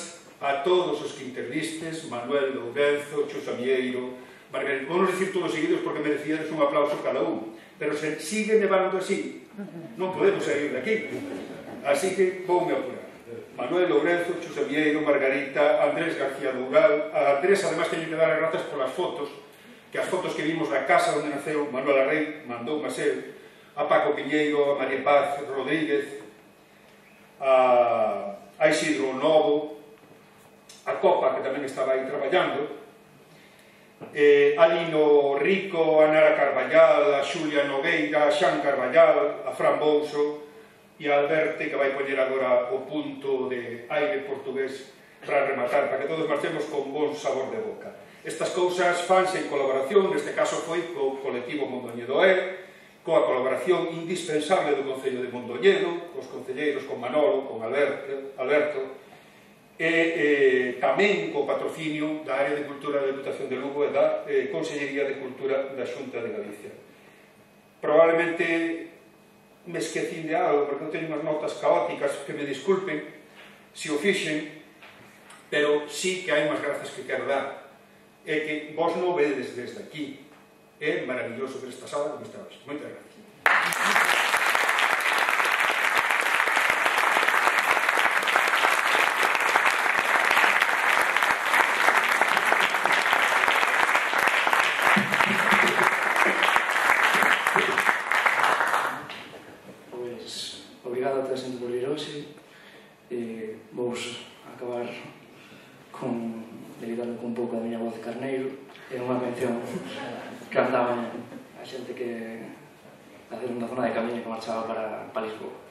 Speaker 1: a todos os que intervistes, Manuel Lourenzo, Chus Amieiro, Margarita. Vamos dicir todos seguidos porque merecíades un aplauso cada un, pero se sigue nevando así, non podemos sair de aquí. Así que voume apurar. Manuel Lourenzo, Chus Amieiro, Margarita, Andrés García Doural. A Andrés, además, teño que dar as grazas polas fotos, que as fotos que vimos da casa onde naceu Manuela Rey mandou a ser, a Paco Piñeiro, a María Paz Rodríguez, a, a Isidro Novo, a Copa, que tamén estaba aí traballando, eh, a Lino Rico, a Nara Carballal, a Xulia Nogueira, a Xan Carballal, a Fran Bouso e a Alberte, que vai poñer agora o punto de aire portugués para rematar, para que todos marchemos con bon sabor de boca. Estas cousas fanse en colaboración, neste caso foi co colectivo Mondoñedo E, coa colaboración indispensable do Concello de Mondoñedo, cos concelleiros, con Manolo, con Alberto, Alberto e eh, tamén co patrocinio da Área de Cultura da Deputación de Lugo e da eh, Consellería de Cultura da Xunta de Galicia. Probablemente me esquecín de algo, porque eu teño unhas notas caóticas, que me disculpen se o fixen, pero sí que hai unhas grazas que quero dar, e que vos non vedes desde aquí. É maravilloso ver esta sala como está hoxe. Moitas gracias.
Speaker 6: Pois, obrigado a toda a xente por vir hoxe. E vos acabar con dedicando con un pouco a miña voz de carneiro. É unha mención que andaban a xente que a hacer unha zona de camiño que marchaba para, para Lisboa.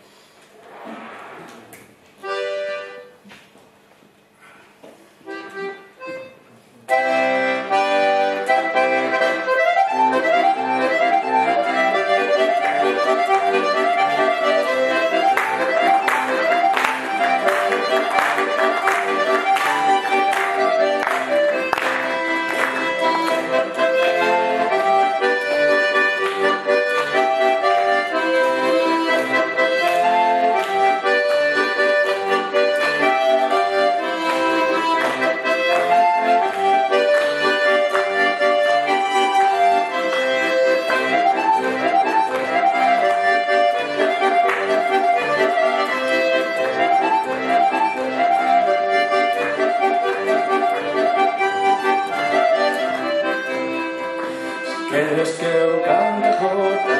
Speaker 6: Queres que eu cante jota,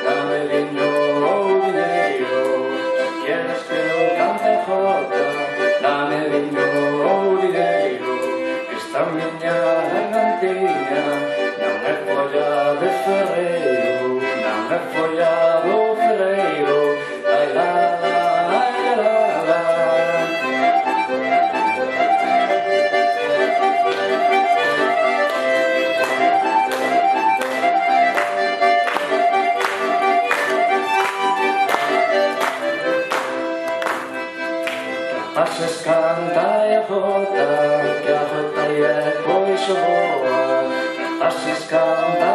Speaker 6: dame liño ou dineiro. Queres que eu cante jota, dame liño ou dineiro. Esta cantiña, non é folla de ferreiro, non é folla do ferreiro, ai la la, ai la la. Pases canta e a jota, que a jota e pois o boa. Pases canta